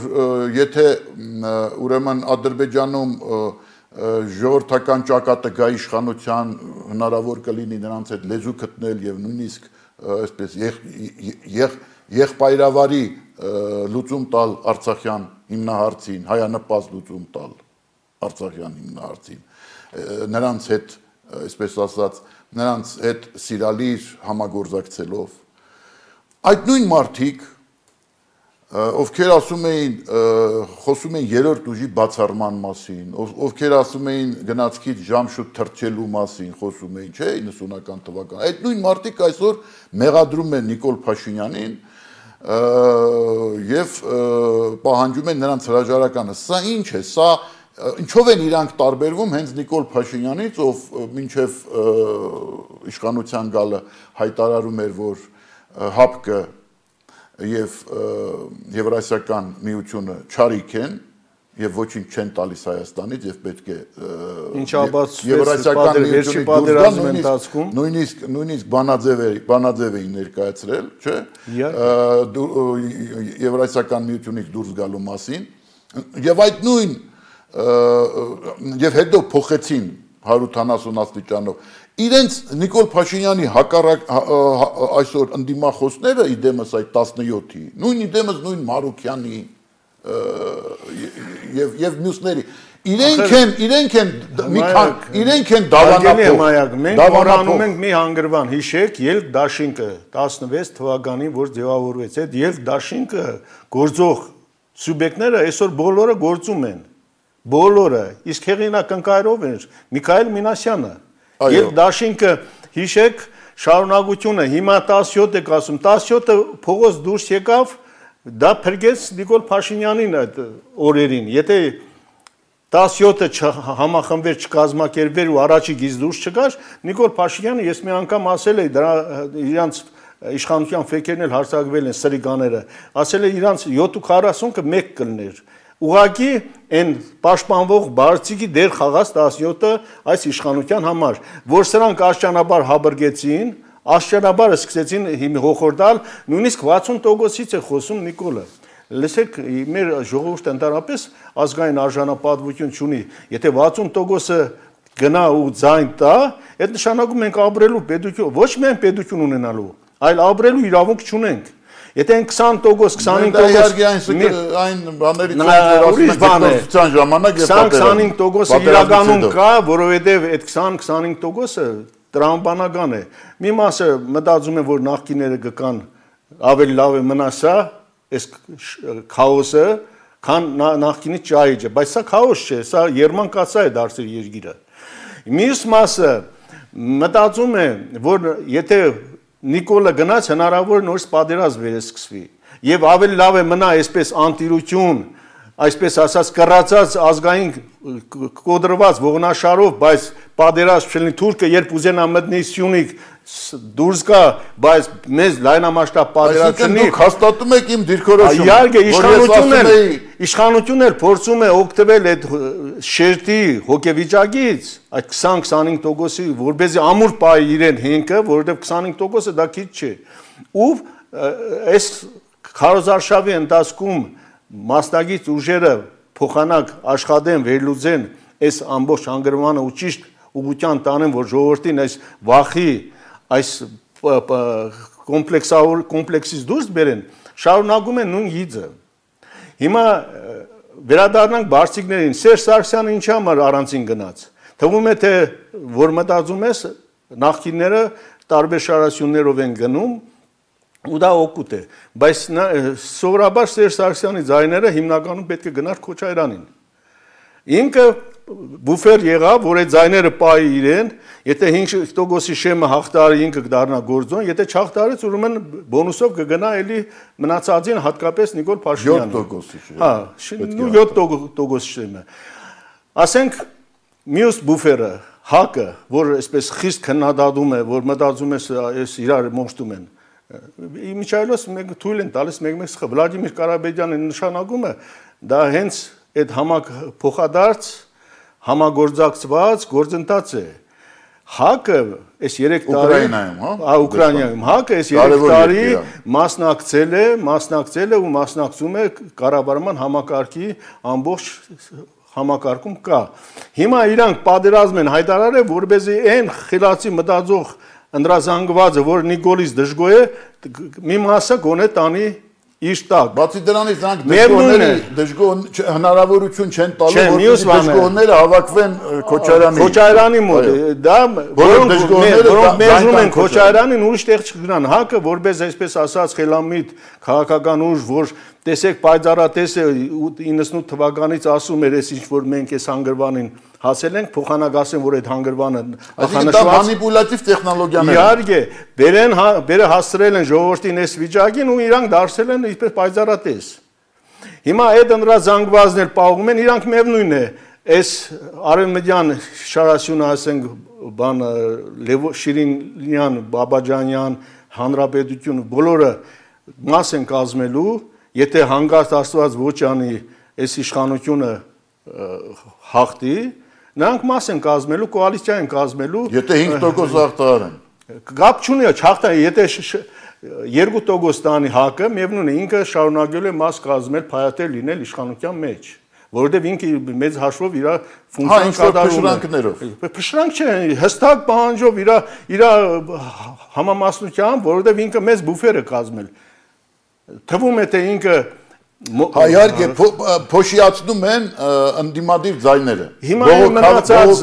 եթե ուրեմն Ադրբեջանում ժողովրդական ճակատը գա իշխանության, հնարավոր կլինի նրանց հետ լեզու գտնել եւ նույնիսկ այսպես եղբայրավարի լուծում տալ Արցախյան հիմնահարցին, հայանպաստ լուծում տալ Արցախյան հիմնահարցին, նրանց հետ, այսպես ասած, նրանց հետ սիրալիր համագործակցելով։ Այդ նույն մարդիկ, ովքեր ասում էին, խոսում էին երրորդ ուժի բացառման մասին, ովքեր ասում էին գնացքից ժամ շուտ թռչելու մասին, խոսում էին, չէ, իննսունական թվական։ Այդ նույն մարդիկ այսօր մեղադրում են Նիկոլ Փաշինյանին եւ պահանջում են նրանց հրաժարականը։ Սա ինչ է, սա ինչով են իրանք տարբերվում հենց Նիկոլ Փաշինյանից, ով մինչև իշխանության գալը հայտարարում էր, որ ՀԱՊԿ եւ Եվրասիական միությունը չարիք են եւ ոչինչ չեն տալիս Հայաստանից եւ պետք է Եվրասիական միությունից դուրս գան, ընթացքում նույնիսկ նույնիսկ բանաձև բանաձև էին ներկայացրել, չէ՞, Եվրասիական միությունից դուրս գալու մասին եւ այդ նույն եւ հետո փոխեցին հարյուր ութանասուն աստիճանով իրենց Նիկոլ Փաշինյանի հակառակ այսօր ընդդիմախոսները իդեմս այդ տասնյոթի, նույն իդեմս նույն Մարուկյանի եւ եւ մյուսների իրենք են իրենք են մի քան իրենք են դավանափոխ
մենք մոռանում ենք մի հանգրվան հիշեք ելք դաշինքը տասնվեց թվականին որ ձևավորվեց այդ ելք դաշինքը գործող սուբյեկտները այսօր բոլորը գործում են բոլորը իսկ հեղինակնկայրով էր Միքայել Մինասյանը ելք դաշինքը հիշեք շարունակությունը հիմա տասնյոթ եք ասում տասնյոթը փողոց դուրս եկավ դա փրկեց Նիկոլ Փաշինյանին այդ օրերին եթե տասնյոթը համախմբեր չկազմակերպվեր ու առաջիկից դուրս չգար Նիկոլ Փաշինյանը ես մի անգամ ասել էի դրա իրանց իշխանության ֆեյքերն էլ հարձակվել են սրիկաները ասել է իրանց յոթ քառասունը մեկ կլներ ուղղակի այն պաշտպանվող բարձիկի դեր խաղաց տասնյոթը այս իշխանության համար որ սրանք աշճանաբար հաբրգեցին աշճանաբար սկսեցին հոխորդալ նույնիսկ վաթսուն տոկոսից է խոսում Նիկոլը լսեք, մեր ժողովուրդը ընդհանրապես ազգային արժանապատվություն չունի։ Եթե վաթսուն տոկոսը գնա ու ձայն տա, այդ նշանակում ենք ապրելու պետություն, ոչ միայն պետություն ունենալու, այլ ապրելու իրավունք չունենք։ Եթե են քսան տոկոս, քսանհինգ տոկոս
այն բաներից ասում ժամանակ եւ
քսան-քսանհինգ տոկոսը իրականում կա, որովհետեւ այդ քսան-քսանհինգ տոկոսը տրամաբանական է։ Մի մասը մտածում եմ, որ նախկիները գկան ավելի լավ է մնա սա, այս քաոսը, քան նախկինի ճայիճը, բայց սա քաոս չէ, սա երմանկացա է դարձել երկիրը։ Մյուս մասը մտածում է, որ եթե Նիկոլը գնաց հնարավոր նորից պատերազմ վերսկսվի եւ ավելի լավ է մնա այսպես անտիրություն, այսպես ասած կռացած ազգային կոդրված ողնաշարով, բայց պատերազմ չլինի թուրքը երբ ուզենա մտնի Սյունիք դուրս գա, բայց մեզ լայնամասշտաբ պատերազմ չլինի։
Դուք հաստատում եք իմ դիրքորոշումը։
Իհարկե իշխանությունն էլ իշխանությունն էլ փորձում է օգտվել այդ շերտի հոգեվիճակից, այդ քսան-քսանհինգ տոկոսի, որբեզի ամուր պահի իրեն հենքը, որովհետև քսանհինգ տոկոսը դա քիչ չէ։ Ու այս քարոզարշավի ընթացքում մասնագետ ուժերը փոխանակ աշխատեն, վերլուծեն այս ամբողջ հանգրվանը ու ճիշտ ուղղության տանեն, որ ժողովրդին այս վախի, այս կոմպլեքսավոր կոմպլեքսից դուրս բերեն, շարունակում են նույն գիծը։ Հիմա վերադառնանք բարձիկներին, Սերժ Սարգսյանը ինչի համար առանցին գնաց։ Թվում է թե որ մտածում ես նախկինները տարբեր շարասյուններով են գնում ու դա օգուտ է, բայց սովորաբար Սերժ Սարգսյանի ձայները հիմնականում պետք է գնար Քոչարյանին։ Ինքը բուֆեր եղավ, որ այդ ձայները պահի իրեն, եթե հինգ տոկոսի շեմը հաղթարի ինքը կդառնա գործոն, եթե չհաղթարեց, ուրեմն բոնուսով կգնա էլի մնացածին, հատկապես Նիկոլ Փաշինյանը։
յոթ տոկոսի շեմը։
Հա, նու յոթ տոկոս շեմը։ Ասենք մյուս բուֆերը, ՀԱԿ-ը, որ այսպես խիստ քննադատում է, որ մտածում է այս իրար մոշտում են։ Իմիջայլոց մենք թույլ են տալիս մեկ-մեկ սխը Վլադիմիր Կարաբեդյանի նշանակումը դա հենց այդ համակ փոխադարձ համագործակցված գործընթաց է։ ՀԱԿ-ը այս երեք տարի հա Ուկրաինայում ՀԱԿ-ը այս երեք տարի մասնակցել է, մասնակցել է ու մասնակցում է կառավարման համակարգի ամբողջ համակարգում կա։ Հիմա իրանք պատերազմ են հայտարարել, որպեսզի այն խելացի մտածող ընդրազանգվածը, որ Նիկոլից դժգոհ է, մի մասը գոնե տանի իր տակ։
Բացի դրանից նրանք դժգոհների դժգոհ հնարավորություն չեն տալու, որ դժգոհները հավաքվեն Քոչարյանի
Քոչարյանի մոտ։ Դա որոնք որոնք մերժում են Քոչարյանին, ուրիշ տեղ չգնան։ ՀԱԿ-ը որպես այսպես ասած խելամիտ քաղաքական ուժ, որ տեսեք պայծառատես է իննսունութ թվականից ասում էր, այս ինչ որ մենք այս հանգրվանին հասել ենք, փոխանակ ասեն, որ այդ հանգրվանը
նախանշված մանիպուլատիվ տեխնոլոգիաներ են։
Իհարկե, բերեն բերը հասցրել են ժողովրդին այս վիճակին ու իրանք դարձել են ինչպես պայծառատես։ Հիմա այդ ընդրազանգվածն էլ պահում են, իրանք միևնույն է, այս արևմտյան շարասյունը ասենք բան Շիրինյան, Բաբաջանյան, Հանրապետություն բոլորը մաս են կազմելու, եթե հանգարտ Աստված ոչ անի այս իշխանությունը հաղթի, նրանք մաս են կազմելու, կոալիցիա են կազմելու։
Եթե հինգ տոկոս հաղթարեն։
Կապ չունի, չհաղթարի, եթե երկու տոկոս տանի ՀԱԿ-ը, միևնույն է, ինքը շարունակելու է մաս կազմել, փայատել լինել իշխանության մեջ, որովհետև ինքը մեծ հաշվով իր ֆունկցիան կատարում է։ Փշրանք չէ, հստակ պահանջով իր իր համամասնությամբ, որովհետև ինքը մեծ բուֆեր է կազմել։ Թվում է թե ինքը
Հա իհարկե փոշիացնում են ընդդիմադիր ձայները։
Հիմա մնացած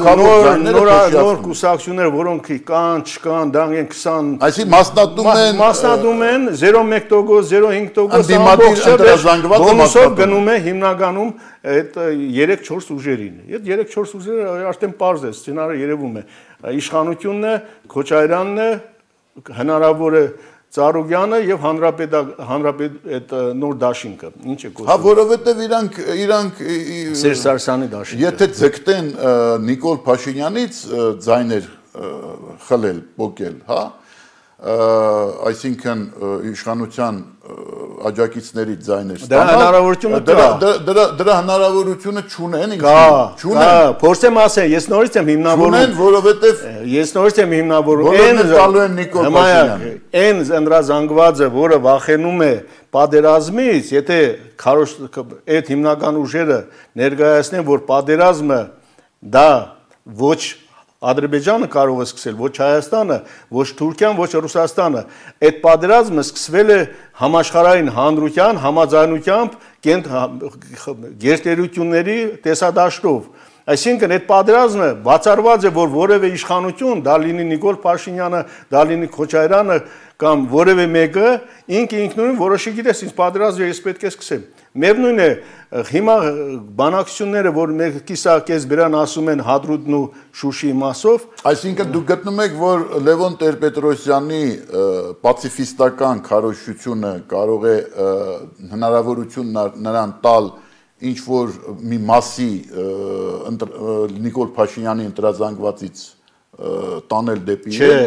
նոր կուսակցությունները, որոնք կան, չկան, դա են քսան,
այսինքն մասնատում են
մասնատում են զերո մեկ տոկոս, զերո հինգ տոկոս
ընդդիմադիր ընդրազանգվածը
բոնուսով գնում է հիմնականում այդ երեք-չորս ուժերին։ Այդ երեք-չորս ուժերը արդեն պարզ է, սցենարը երևում է։ Իշխանությունն է, Քոչարյանն է, հնարավոր է Ծառուկյանը եւ հանրապետ հանրապետ այդ նոր դաշինքը ինչ է կոչվում։
Հա որովհետեւ իրանք իրանք
Սերժ Սարգսյանի դաշինքը
եթե ձգտեն Նիկոլ Փաշինյանից ձայներ խլել, փոկել, հա այսինքն իշխանության աջակիցների ձայներ
ստանալ։ Դրա հնարավորությունը կա։
Դրա դրա հնարավորությունը չունեն ինքնին։
Չունեն։ Փորձեմ ասել, ես նորից եմ հիմնավորում։
Չունեն, որովհետև
ես նորից եմ հիմնավորում։
Բոլորն տալու են Նիկոլ Փաշինյանին։
Այն ընդրազանգվածը, որը վախենում է պատերազմից, եթե այդ հիմնական ուժերը ներկայացնեն, որ պատերազմը դա ոչ Ադրբեջանը կարող է սկսել, ոչ Հայաստանը, ոչ Թուրքիան, ոչ Ռուսաստանը, այդ պատերազմը սկսվել է համաշխարհային հանրության համաձայնությամբ գերտերությունների տեսադաշտով։ Այսինքն այդ պատերազմը բացառված է, որ որևէ իշխանություն, դա լինի Նիկոլ Փաշինյանը, դա լինի Քոչարյանը կամ որևէ մեկը ինքը ինքնուրույն որոշի գիտես, ինձ պատերազմը ես պետք է սկսեմ։ Միևնույն է, հիմա բանակցությունները, որ մեկիսա կես բերան ասում են Հադրութն ու Շուշիի մասով,
այսինքն դուք գտնում եք, որ Լևոն Տեր-Պետրոսյանի պացիֆիստական քարոզությունը կարող է հնարավորություն նրան տալ ինչ որ մի մասի Նիկոլ Փաշինյանի ընտրազանգվածից տանել դեպի
Չէ,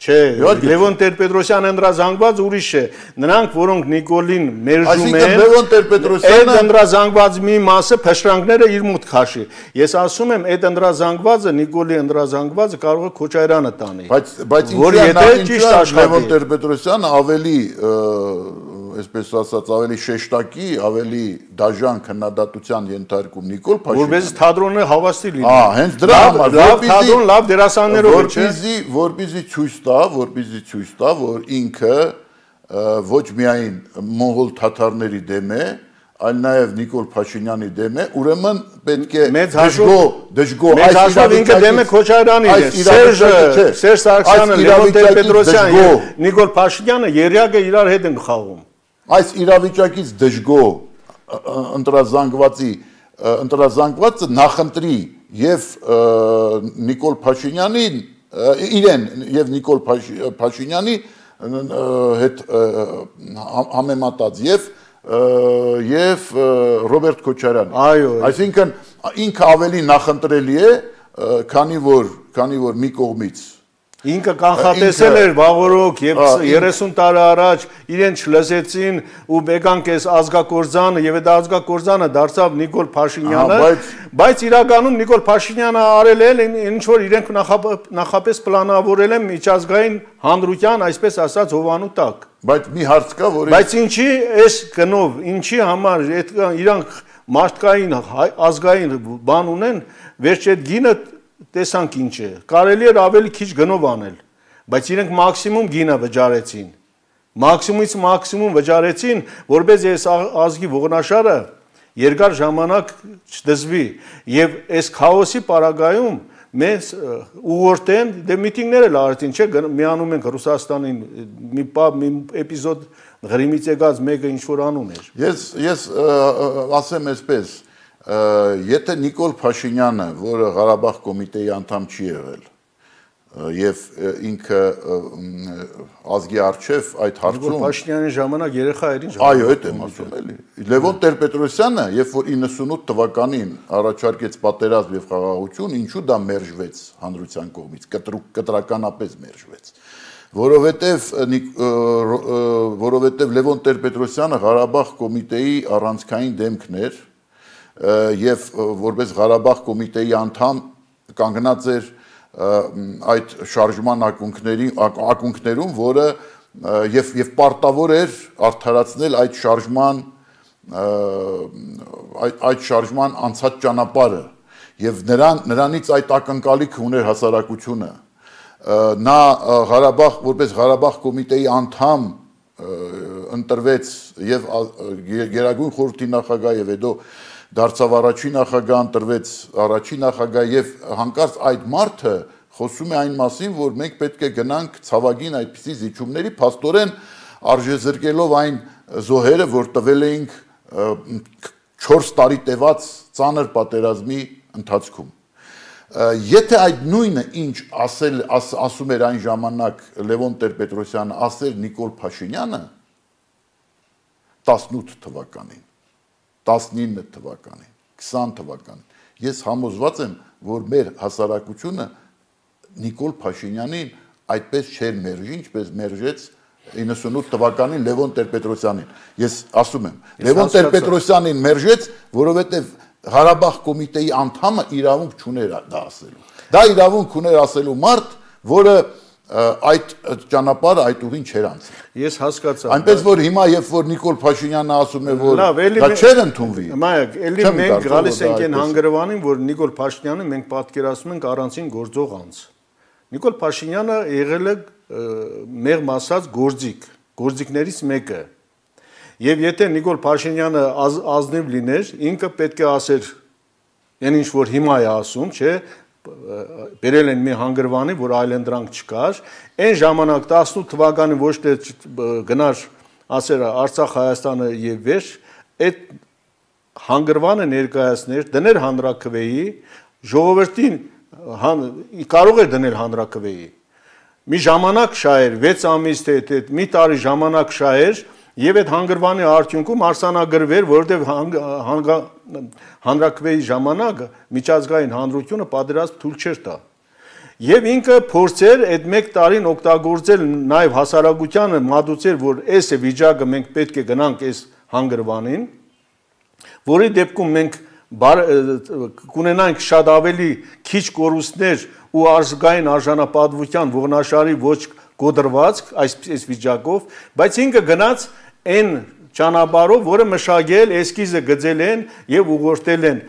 չէ, Լևոն Տեր-Պետրոսյանը ընտրազանգված ուրիշ է։ Նրանք, որոնք Նիկոլին մերժում են,
Լևոն Տեր-Պետրոսյանը
այդ ընտրազանգված մի մասը փշրանքները իր մուտք քաշի։ Ես ասում եմ, այդ ընտրազանգվածը Նիկոլի ընտրազանգվածը կարող է Քոչարյանը տանի։
Բայց բայց
որ եթե ճիշտ աշխատի
Լևոն Տեր-Պետրոսյանը ավելի այսպես ասած ավելի շեշտակի, ավելի դաժան քննադատության ենթարկում Նիկոլ Փաշինյանը։
Որպես թատրոնը հավաստի լինի։
Ահա, հենց դրա համար,
որպեսզի թատրոն լավ դերասաններով է, չէ՞։
Որպեսզի, որպեսզի ցույց տա, որպեսզի ցույց տա, որ ինքը ոչ միայն մոնղոլ թաթարների դեմ է, այլ նաև Նիկոլ Փաշինյանի դեմ է, ուրեմն պետք է դժգո, դժգո
այս իրավիճակից ինքը դեմ է Քոչարյանին, Սերժը, Սերժ Սարգսյանը, Լևոն Տեր-Պետրոսյանը եւ Նիկոլ Փաշինյանը երյակը իրար հետ են խաղում։
Այս իրավիճակից դժգո ընտրազանգվածի ընտրազանգվածը նախընտրի եւ Նիկոլ Փաշինյանին իրեն եւ Նիկոլ Փաշինյանի հետ համեմատած եւ եւ Ռոբերտ Քոչարյանը։
Այո,
այսինքն ինքը ավելի նախընտրելի է, քանի որ քանի որ մի կողմից
ինքը կանխատեսել էր վաղորոք եւ երեսուն տարի առաջ իրեն չլսեցին ու բեկանք էս ազգակորձանը եւ այդ ազգակորձանը դարձավ Նիկոլ Փաշինյանը, բայց իրականում Նիկոլ Փաշինյանը արել է ինչ որ իրենք նախապես պլանավորել են միջազգային հանրության, այսպես ասած, հովանու տակ։
Բայց մի հարց կա, որ
Բայց ինչի այս գնով, ինչի համար իրանք մարդկային ազգային բան ունեն, վերջ այդ գինը տեսանք ինչ է, կարելի էր ավելի քիչ գնով անել, բայց իրենք մաքսիմում գինը վճարեցին, մաքսիմումից մաքսիմում վճարեցին, որպես այս ազգի ողնաշարը երկար ժամանակ չդզվի, եւ այս քաոսի պարագայում մեզ ուղղորդեն, դե միտինգներ էլ արեցին, չէ, միանում ենք Ռուսաստանին, մի պապ, մի էպիզոդ Ղրիմից եկած մեկը ինչ որ անում էր։
Ես ես ասեմ այսպես, եթե Նիկոլ Փաշինյանը, որը Ղարաբաղ կոմիտեի անդամ չի եղել, եւ ինքը ազգի արչեւ այդ հարցում
Նիկոլ Փաշինյանի ժամանակ երեխա էր ինչ։
Այո, այդ եմ ասում էլի։ Լևոն Տեր-Պետրոսյանը, երբ որ իննսունութ թվականին առաջարկեց պատերազմ եւ խաղաղություն, ինչու դա մերժվեց հանրության կողմից, կտրականապես մերժվեց։ Որովհետև որովհետև Լևոն Տեր-Պետրոսյանը Ղարաբաղ կոմիտեի առանցքային դեմքն էր եւ որպես Ղարաբաղ կոմիտեի անդամ կանգնած էր այդ շարժման ակունքների ակունքներում, որը եւ եւ պարտավոր էր արդարացնել այդ շարժման այդ այդ շարժման անցած ճանապարհը եւ նրան նրանից այդ ակնկալիքը ուներ հասարակությունը նա Ղարաբաղ որպես Ղարաբաղ կոմիտեի անդամ ընտրվեց եւ Գերագույն խորհրդի նախագահ եւ հետո դարձավ առաջին նախագահ, ընտրվեց առաջին նախագահ եւ հանկարծ այդ մարդը խոսում է այն մասին, որ մենք պետք է գնանք ցավագին այդպիսի զիջումների, փաստորեն արժեզրկելով այն զոհերը, որ տվել էինք չորս տարի տևած ծանր պատերազմի ընթացքում։ Եթե այդ նույնը ինչ ասել աս, ասում էր այն ժամանակ Լևոն Տեր-Պետրոսյանը, ասել Նիկոլ Փաշինյանը տասնութ թվականին, տասնինը թվականին, քսան թվականին, ես համոզված եմ, որ մեր հասարակությունը Նիկոլ Փաշինյանին այդպես չէր մերժի, ինչպես մերժեց իննսունութ թվականին Լևոն Տեր-Պետրոսյանին։ Ես ասում եմ, Լևոն Տեր-Պետրոսյանին մերժեց, որովհետև Ղարաբաղ կոմիտեի անդամը իրավունք չուներ դա ասելու։ Դա իրավունք ուներ ասելու մարդ, որը այդ ճանապարհը այդ ուղին չէր անցել։
Ես հասկացա։
Այնպես որ հիմա երբ որ Նիկոլ Փաշինյանը ասում է, որ դա չէր ընդունվի։
Մայակ, էլի մենք գալիս ենք այն հանգրվանին, որ Նիկոլ Փաշինյանը մենք պատկերացնում ենք առանցին գործող անձ։ Նիկոլ Փաշինյանը եղել է մեղմ ասած գործիք, գործիքներից մեկը։ Եվ եթե Նիկոլ Փաշինյանը ազնիվ լիներ, ինքը պետք է ասեր, այն ինչ որ հիմա է ասում, չէ, բերել են մի հանգրվանի, որ այլընտրանք չկար, այն ժամանակ տասնութ թվականին ոչ թե գնար ասեր Արցախ, Հայաստանը եւ վերջ, այդ հանգրվանը ներկայացներ, դներ հանրաքվեի, ժողովրդին կարող էր դնել հանրաքվեի։ Մի ժամանակ շահեր, վեց ամիս թե մի տարի ժամանակ շահեր, եւ այդ հանգրվանի արդյունքում արձանագրվեր, որովհետեւ հանրաքվեի ժամանակ միջազգային հանրությունը պատերազմ թույլ չէր տա։ Եվ ինքը փորձեր այդ մեկ տարին օգտագործել նաեւ հասարակությանը մատուցեր, որ այս է վիճակը, մենք պետք է գնանք այս հանգրվանին, որի դեպքում մենք կունենանք շատ ավելի քիչ կորուստներ ու ազգային արժանապատվության ողնաշարի ոչ կոդրվածք այս վիճակով, բայց ինքը գնաց այն ճանապարհով, որը մշակել, էսկիզը գծել են եւ ուղղորդել են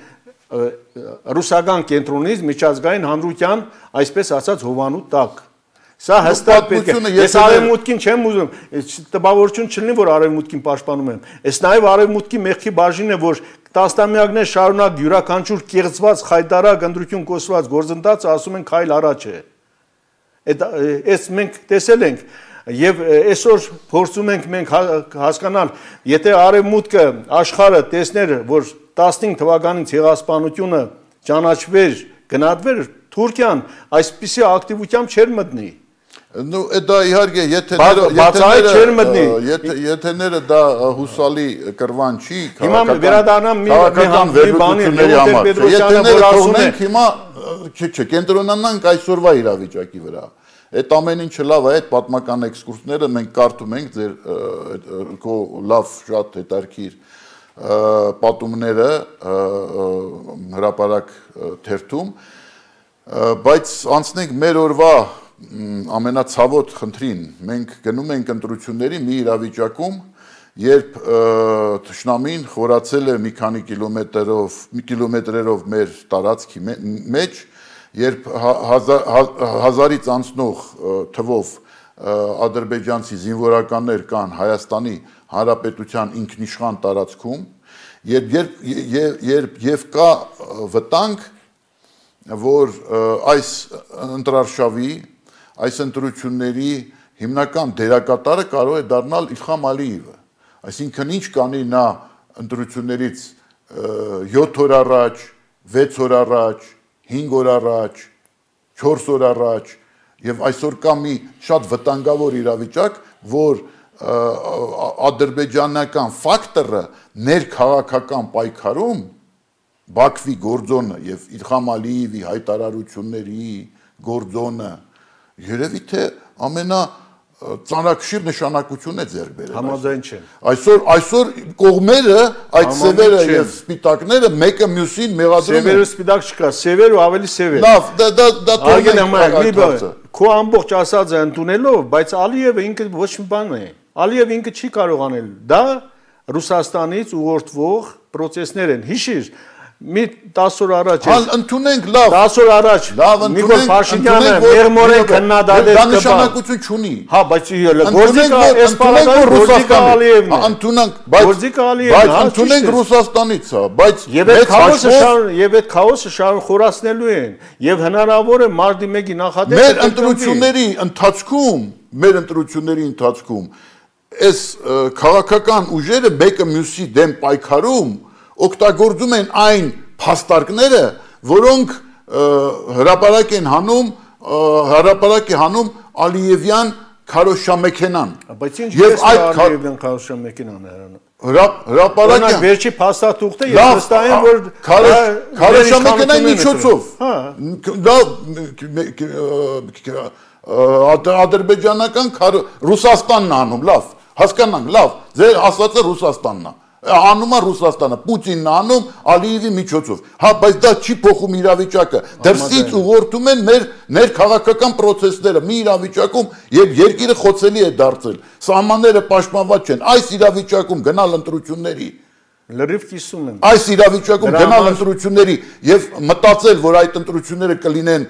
ռուսական կենտրոնից միջազգային հանրության, այսպես ասած, հովանու տակ։ Սա հստակ պետք է։ Ես արևմուտքին չեմ ուզում, տպավորություն չլինի, որ արևմուտքին պաշտպանում եմ։ Այս նաեւ արևմուտքի մեղքի բաժինն է, որ տասնամյակներ շարունակ յուրաքանչյուր կեղծված, խայտարակ, ընտրություն կոչված գործընթացը ասում են քայլ առաջ է։ Այս մենք տեսել ենք եւ այսօր փորձում ենք մենք հասկանալ, եթե արևմուտքը աշխարհը տեսներ, որ տասնհինգ թվականին ցեղասպանությունը ճանաչվեր, գնահատվեր, Թուրքիան այսպիսի ակտիվությամբ չէր մտնի։
Ну, դա իհարկե, եթե եթեները դա հուսալի կրվան չի,
քաղաքական
վերլուծությունների համար, եթեները թողնենք հիմա, չէ, կենտրոնանանք այսօրվա իրավիճակի վրա, այդ ամեն ինչը լավ է, այդ պատմական էքսկուրսները մենք կարդում ենք ձեր քո լավ շատ հետարքիր պատումները հրապարակ թերթում, բայց անցնենք մեր օրվա ամենացավոտ խնդրին, մենք գնում ենք ընտրությունների մի իրավիճակում, երբ թշնամին խորացել է մի քանի կիլոմետրերով, մի կիլոմետրերով մեր տարածքի մեջ, երբ հազարից անցնող թվով ադրբեջանցի զինվորականներ կան Հայաստանի Հանրապետության ինքնիշխան տարածքում, երբ եւ կա վտանգ, որ այս ընտրարշավի, այս ընտրությունների հիմնական դերակատարը կարող է դառնալ Իլհամ Ալիևը, այսինքն ինչ կանի նա ընտրություններից յոթ օր առաջ, վեց օր առաջ, հինգ օր առաջ, չորս օր առաջ, եւ այսօր կա մի շատ վտանգավոր իրավիճակ, որ ադրբեջանական ֆակտորը ներքաղաքական պայքարում Բաքվի գործոնը եւ Իլհամ Ալիևի հայտարարությունների գործոնը երևի թե ամենա ծանրակշիռ նշանակություն է ձեռք բերել։
Համաձայն չեմ։
Այսօր այսօր կողմերը այդ սևերը եւ սպիտակները մեկը մյուսին մեղադրում են։
Սևերը սպիտակ չկա, սևեր ու ավելի սևեր։
Լավ, դա դա դա
թողնենք։ Քո ամբողջ ասածը ընդունելով, բայց Ալիևը ինքը ոչ մի բան է։ Ալիևը ինքը չի կարող անել։ Դա Ռուսաստանից ուղղորդվող process-ներ են։ Հիշիր, մի տասը օր առաջ
ընդունենք լավ
տասը օր առաջ Նիկոլ Փաշինյանը մեղմորեն քննադատել
դա նշանակություն չունի
հա բայց գործիկա էսպարադայում գործիկա Ալիևն է
ընդունենք բայց
գործիկա Ալիևն
բայց ընդունենք Ռուսաստանից հա բայց
եւ այդ քաոսը եւ այդ քաոսը շարուն խորացնելու են եւ հնարավոր է մարտի մեկի նախադեպը
մեր ընտրությունների ընթացքում մեր ընտրությունների ընթացքում այս քաղաքական ուժերը մեկը մյուսի դեմ պայքարում օգտագործում են այն փաստարկները, որոնք հրապարակ են հանում, հրապարակ է հանում Ալիևյան քարոշչամեքենան։
Բայց ինչ է Ալիևյան քարոշչամեքենան հրանը։
Հրապարակը
վերջի փաստաթուղթը ես վստահ եմ, որ
քարոշչամեքենայի միջոցով։ Դա ադրբեջանական Ռուսաստանն է անում, լավ, հասկանանք, լավ, ձեր ասածը Ռուսաստանն է, անում է Ռուսաստանը, Պուտինն է անում Ալիևի միջոցով, հա, բայց դա չի փոխում իրավիճակը, դրսից ուղղորդում են մեր ներքաղաքական պրոցեսները, մի իրավիճակում, երբ երկիրը խոցելի է դարձել, սահմանները պաշտպանված չեն, այս իրավիճակում գնալ ընտրությունների
լրիվ կիսում են։
Այս իրավիճակում գնալ ընտրությունների եւ մտածել, որ այդ ընտրությունները կլինեն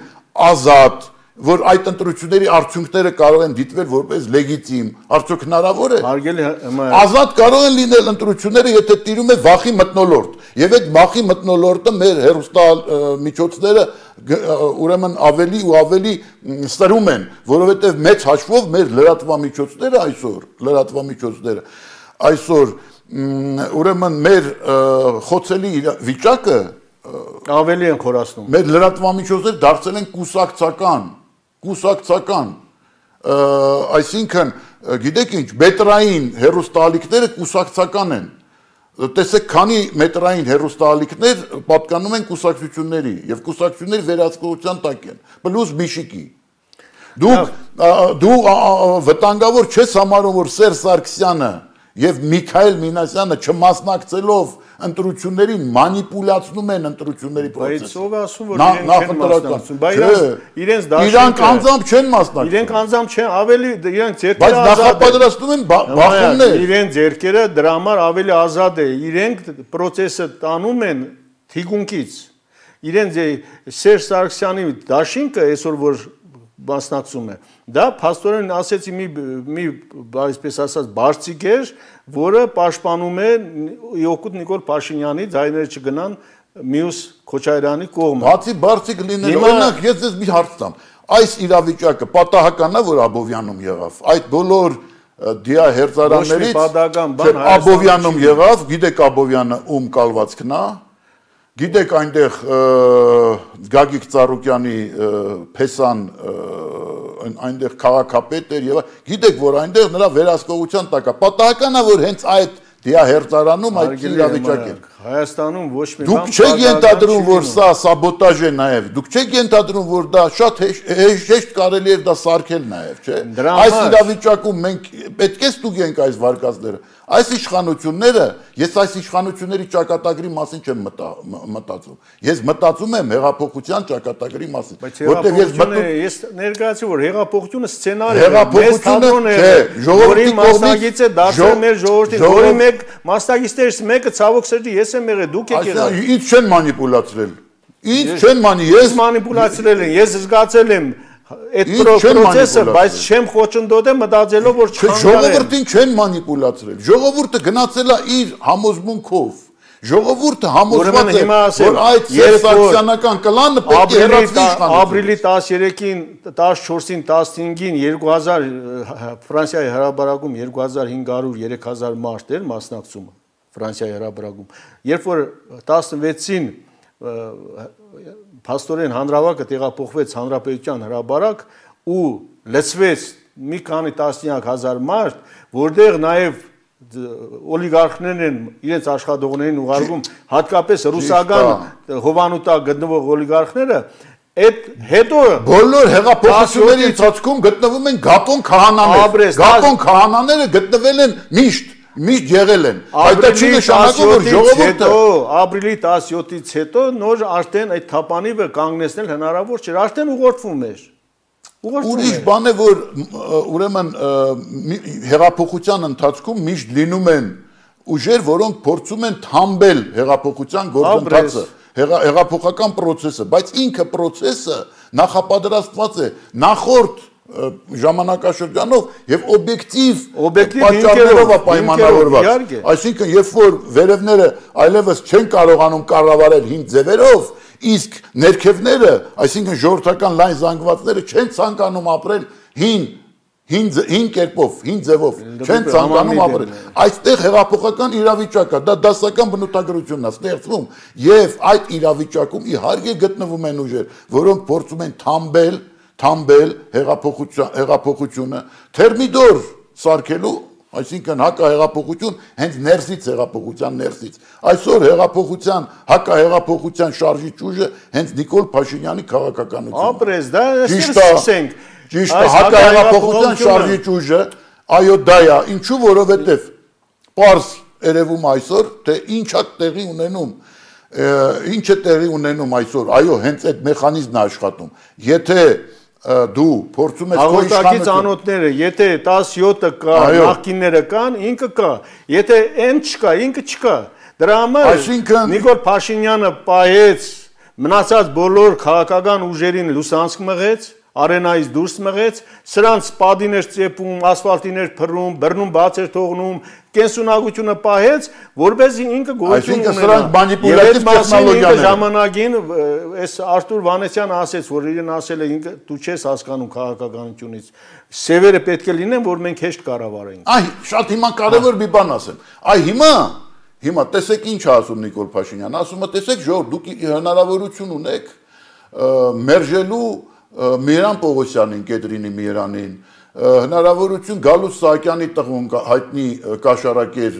ազատ, որ այդ ընտրությունների արդյունքները կարող են դիտվել որպես լեգիտիմ, արդյոք հնարավոր է։
Հարգելի
Ազատ կարող են լինել ընտրությունները, եթե տիրում է վախի մթնոլորտ, եւ այդ վախի մթնոլորտը մեր հեռուստամիջոցները ուրեմն ավելի ու ավելի սրում են, որովհետեւ մեծ հաշվով մեր լրատվամիջոցները այսօր, լրատվամիջոցները այսօր ուրեմն մեր խոցելի վիճակը
ավելի են խորացնում։
Մեր լրատվամիջոցները դարձել են կուսակցական, կուսակցական, այսինքն, գիտեք ինչ, մետրային հեռուստաալիքները կուսակցական են։ Տեսեք, քանի մետրային հեռուստաալիքներ պատկանում են կուսակցությունների եւ կուսակցությունների վերահսկողության տակ են, պլյուս Միշիկի։ Դուք դու վտանգավոր չես համարում, որ Սերժ Սարգսյանը եւ Միքայել Մինասյանը չմասնակցելով ընտրություններին մանիպուլացնում են ընտրությունների
process-ը։ Բայց ով ասում որ իրենք չեն մասնակցում, բայց իրենց դաշինքը
Իրանք անձամբ չեն մասնակցում։
Իրենք անձամբ չեն, ավելի իրենք ձերքերը
Բայց նախապատրաստում են բախումներ։
Իրենց ձերքերը դրա համար ավելի ազատ է։ Իրենք process-ը տանում են թիկունքից։ Իրենց Սերժ Սարգսյանի դաշինքը այսօր որ մասնակցում է։ Դա փաստորեն ասեցի մի մի այսպես ասած բարձիկ էր, որը պաշտպանում է Օկուտ Նիկոլ Փաշինյանի ձայները չգնան մյուս Քոչարյանի կողմը։
Բացի բարձիկ լինելու, օրինակ ես ձեզ մի հարց տամ։ Այս իրավիճակը պատահական է, որ Աբովյանում եղավ։ Այդ բոլոր դիա հերձարաններից Աբովյանում եղավ, գիտեք Աբովյանը ում կալվածքն է։ Գիտեք այնտեղ Գագիկ Ծառուկյանի Փեսան այնտեղ քաղաքապետ էր եւ գիտեք որ այնտեղ նրա վերահսկողության տակ է պատահական է որ հենց այդ դիահերձարանում այդ իրավիճակն է
Հայաստանում ոչ մի բան
դուք չեք ենթադրում որ սա սաբոտաժ է նաեւ դուք չեք ենթադրում որ դա շատ հեշտ կարելի է դա սարքել նաեւ չէ այս իրավիճակում մենք պետք է ստուգենք այս վարկածները Այս իշխանությունները, ես այս իշխանությունների ճակատագրի մասին չեմ մտածում։ Ես մտածում եմ հեղափոխության ճակատագրի մասին,
որտեղ ես մտնում ես ներկայացրի որ հեղափոխությունը սցենարի է, մեծ թատրոն է, որի մասնագիծ է դարձել մեր ժողովրդին, որի մեկ մասնագետներից մեկը ցավոք սրտի ես եմ եղել, դուք եք եղել։
Ինչ չեն մանիպուլացրել։ Ինչ չեն մանի, ես
մանիպուլացրել են, ես զգացել եմ Այդ process-ը, բայց չեմ խոչընդոտել մտածելով որ չխանգարեն։
Ժողովրդին չեն մանիպուլացրել։ Ժողովուրդը գնացել է իր համոզմունքով։ Ժողովուրդը համոզված է, որ այդ սերսակցիանական կլանը պետք է հեռացվի իշխանությունից։
Ապրիլի տասներեքին, տասնչորսին, տասնհինգին երկու հազար Ֆրանսիայի հրապարակում երկու հազար հինգ հարյուր երեք հազար մարդ էր մասնակցում Ֆրանսիայի հրապարակում։ Երբ որ տասնվեցին Փաստորեն հանրավակը տեղափոխվեց հանրապետության հրապարակ ու լցվեց մի քանի տասնյակ հազար մարդ, որտեղ նաև օլիգարխներն են իրենց աշխատողներին ուղարկում, հատկապես ռուսական հովանուտա գտնվող օլիգարխները, այդ հետո
բոլոր հեղափոխությունների ընթացքում գտնվում են գապոն քահանաներ, գապոն քահանաները գտնվել են միշտ Միշտ եղել են, այդ չի նշանակում, որ ժողովուրդը
ապրիլի տասնյոթից հետո նոր արդեն այդ թափանիվը կանգնեցնել հնարավոր չէր, արդեն ուղղորդվում էր։
Ուրիշ բան է, որ ուրեմն հեղափոխության ընթացքում միշտ լինում են ուժեր, որոնք փորձում են թամբել հեղափոխության գործընթացը, հեղափոխական process-ը, բայց ինքը process-ը նախապատրաստված է նախորդ ժամանակաշրջանով եւ օբյեկտիվ պատճառներով է պայմանավորված այսինքն երբ որ վերևները այլևս չեն կարողանում կառավարել հին ձևերով իսկ ներքևները այսինքն ժողովրդական լայն զանգվածները չեն ցանկանում ապրել հին հին հին կերպով հին ձևով չեն ցանկանում ապրել այստեղ հեղափոխական իրավիճակ է դա դասական բնութագրությունն է ստեղծվում եւ այդ իրավիճակում իհարկե գտնվում են ուժեր որոնք փորձում են թամբել Թամբել հեղափոխությունը թերմիդոր սարքելու, այսինքն հակահեղափոխություն հենց ներսից հեղափոխության ներսից։ Այսօր հեղափոխության, հակահեղափոխության շարժիչ ուժը հենց Նիկոլ Փաշինյանի քաղաքականությունն է։
Ապրես, դա սկսենք։
Ճիշտ է, հակահեղափոխության շարժիչ ուժը, այո դա է, ինչու որովհետև պարզ երևում այսօր, թե ինչ է տեղի ունենում, ինչ է տեղի ունենում այսօր, այո, հենց այդ մեխանիզմն է աշխատում, եթե դու փորձում ես քո
իշխանությունը անոթները, եթե տասնյոթը կա, նախկինները կան, ինքը կա, եթե այն չկա, ինքը չկա, դրա համար Նիկոլ Փաշինյանը պահեց, մնացած բոլոր քաղաքական ուժերին լուսանցք մղեց, արենայից դուրս մղեց, սրանց պադին էր ծեփում, ասֆալտին էր փռում, բռնում բաց էր թողնում, կենսունակությունը պահեց, որպեսզի ինքը գոյություն ունենա։
Այսինքն սրանք մանիպուլյատիվ տեխնոլոգիաներ են։
Ժամանակին այս Արտուր Վանեսյանը ասեց, որ իրեն ասել է ինքը դու չես հասկանում քաղաքականությունից։ Սևերը պետք է լինեն, որ մենք հեշտ կառավարենք։
Այ շատ հիմա կարևոր մի բան ասեմ։ Այ հիմա հիմա տեսեք ինչ է ասում Նիկոլ Փաշինյանը, ասում է տեսեք ժողովուրդ դուք հնարավորություն ունեք մերժելու Միran Պողոսյանին, Կետրինի Միրանին, հնարավորություն Գալուս Սահակյանի տղուն հայտնի կաշառակեր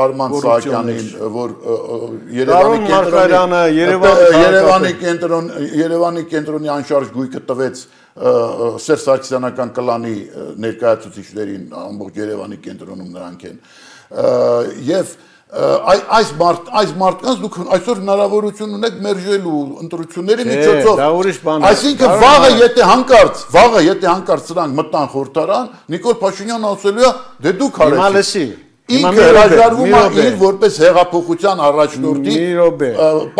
Արման Սահակյանին, որ Երևանի կենտրոն Երևանի կենտրոնի անշարժ գույքը տվեց Սերժ Սարգսյանական կլանի ներկայացուցիչներին, ամբողջ Երևանի կենտրոնում նրանք են։ Եվ այս մարդ այս մարդկանց դուք այսօր հնարավորություն ունեք մերժելու ընտրությունների միջոցով։ Այսինքն վաղը եթե հանկարծ, վաղը եթե հանկարծ սրանք մտան խորհրդարան, Նիկոլ Փաշինյանը ասելու է, դե դուք արեցիք։ Ինքը հրաժարվում է իր որպես հեղափոխության առաջնորդի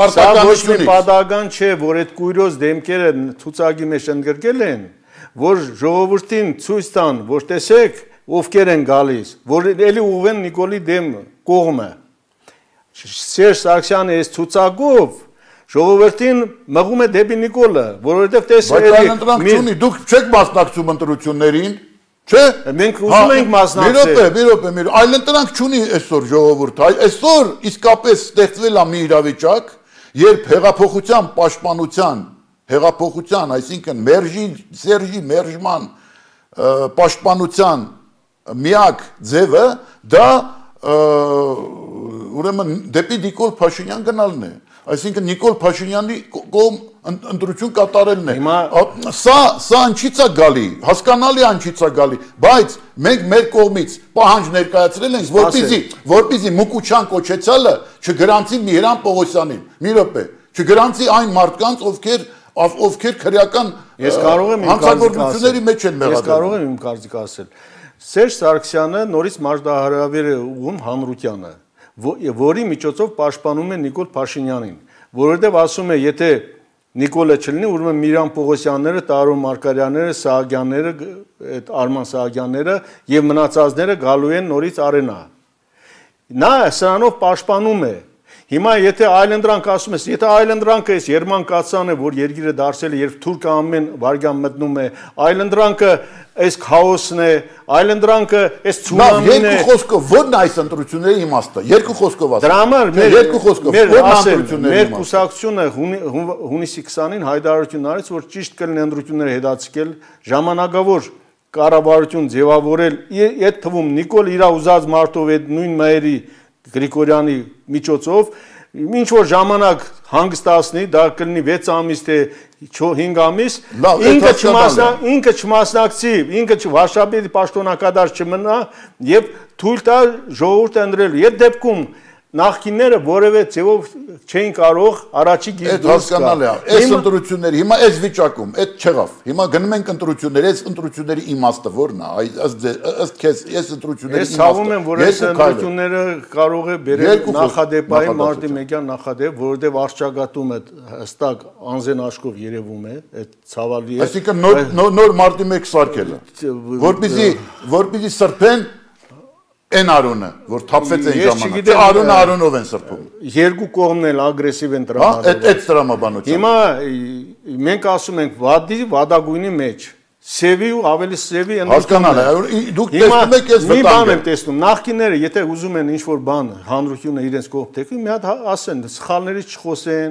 պարտականությունից։ Սա պատահական չէ, որ այդ կույրոզ դեմքերը ցուցակի մեջ ընդգրկել են, որ ժողովրդին ցույց տան, որ տեսեք ովքեր են գալիս, որ էլի ուղղեն Նիկոլի դեմ կողմը։ Սերժ Սարգսյանը այս ցուցակով ժողովրդին մղում է դեպի Նիկոլը, որովհետև տեսեք
էլի ընտրությունի դուք չեք մասնակցում ընտրություններին, չէ՞։
Մենք ուզում ենք մասնակցել։
Մի րոպե, մի րոպե, մի րոպե, այլ ընտրանք չունի այսօր ժողովուրդը, այսօր իսկապես ստեղծվել է մի իրավիճակ, երբ հեղափոխության պաշտպանության, հեղափոխության, այսինքն մերժի, Սերժի մերժման պաշտպանության միակ ձևը դա ուրեմն դեպի Նիկոլ Փաշինյան գնալն է, այսինքն Նիկոլ Փաշինյանի կողմ ընտրություն կատարելն է։ Սա սա ինչից է գալի, հասկանալի է ինչից է գալի, բայց մենք մեր կողմից պահանջ ներկայացրել ենք, որպեսզի որպեսզի Մուկուչյան կոչեցյալը չգրանցի Միran Պողոսյանին, մի րոպե, չգրանցի այն մարդկանց, ովքեր ովքեր քրեական հանցագործությունների մեջ են մեղադրվել։
Ես կարող եմ իմ կարծիքը ասել։ Սերժ Սարգսյանը նորից մարտահրավեր է ուղղում հանրությանը, որի միջոցով պաշտպանում է Նիկոլ Փաշինյանին, որովհետև ասում է, եթե Նիկոլը չլինի, ուրեմն Միran Պողոսյանները, Տարո Մարկարյանները, Սահակյանները, այդ Արման Սահակյանները եւ մնացածները գալու են նորից արենա։ Նա սրանով պաշտպանում է։ Հիմա եթե այլընտրանք ասում ես, եթե այլընտրանքը այս Երման Կացանը, որ երկիրը դարձել է, երբ թուրքը ամեն վարյան մտնում է, այլընտրանքը այս քաոսն է, այլընտրանքը այս ցունամին է։
Երկու խոսքով ո՞րն է այս ընտրությունների իմաստը։ Երկու խոսքով ասա։
Դրա համար մեր
երկու խոսքով ո՞րն է ընտրությունների
մեր կուսակցությունը հունիսի քսանին հայտարարություն արեց, որ ճիշտ կլինի ընտրությունները հետաձգել, ժամանակավոր կառավարություն ձևավորել, այդ թվում Նիկոլ իր ուզած մարդով այդ նույն մայրի Գրիգորյանի միջոցով ինչ որ ժամանակ հանգստացնի, դա կլինի վեց ամիս թե հինգ ամիս, ինքը չմասնա, ինքը չմասնակցի, ինքը վարշավի պաշտոնակատար չմնա եւ թույլ տա ժողովուրդը ընտրելու։ Այդ դեպքում նախկինները որևէ ձևով չէին կարող առաջի գիծ դուրս
գալ։ Այս ընտրությունների հիմա այս վիճակում, այդ չեղավ։ Հիմա գնում ենք ընտրություններ, այս ընտրությունների իմաստը ո՞րն է։ Ըստ քեզ, այս ընտրությունների
իմաստը։ Ես ցավում եմ, որ այս ընտրությունները կարող է բերել նախադեպային մարտի մեկյան նախադեպ, որովհետև արճակատումը հստակ անզեն աշխով երևում է, այդ ցավալի է։
Այսինքն նոր մարտի մեկ սարքելը, որպեսզի որպեսզի սրբեն Են Արոնը, որ թափվեց այն ժամանակ, Արոնը Արոնով են սրբում։
Երկու կողմն էլ ագրեսիվ են տրամադրում։
Այդ տրամաբանությամբ։
Հիմա մենք ասում ենք վադի, վադագույնի մեջ, սևի ու ավելի սևի
Հասկանալ է, դուք տեսնում եք այս վտանգը։
Մի բան եմ տեսնում, նախկինները, եթե ուզում են ինչ-որ բան, հանրությունը իրենց կողմ թեքվի, մի հատ ասեն, սխալներից չխոսեն,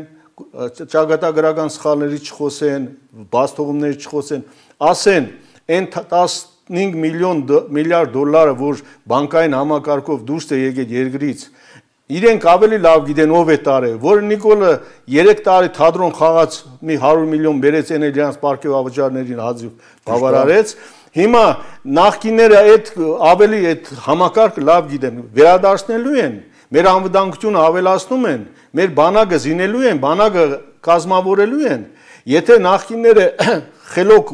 ճակատագրական սխալներից չխոսեն, բացթողումներից չխոսեն, ասեն, այն տասնհինգ միլիոն միլիարդ դոլարը, որ բանկային համակարգով դուրս է եկել երկրից, իրենք ավելի լավ գիտեն ով է տարել, որ Նիկոլը երեք տարի թատրոն խաղաց մի հարյուր միլիոն բերեց են իրանց պարգևավճարներին հազիվ բավարարեց, հիմա նախկինները այդ ավելի այդ համակարգը լավ գիտեն, վերադարձնելու են, մեր անվտանգությունը ավելացնում են, մեր բանակը զինելու են, բանակը կազմավորելու են, եթե նախկինները խելոք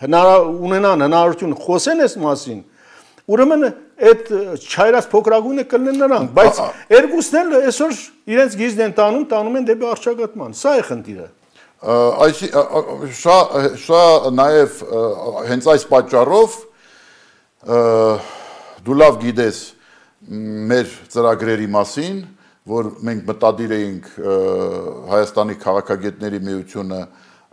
ունենան հնարավորություն խոսեն այս մասին, ուրեմն այդ չայրած փոքրագույնը կլինեն նրանք, բայց երկուսն էլ այսօր իրենց գիզն են տանում, տանում են դեպի առճակատման, սա է խնդիրը։
Սա նաև հենց այս պատճառով դու լավ գիտես մեր ծրագրերի մասին, որ մենք մտադիր էինք Հայաստանի քաղաքագետների միությունը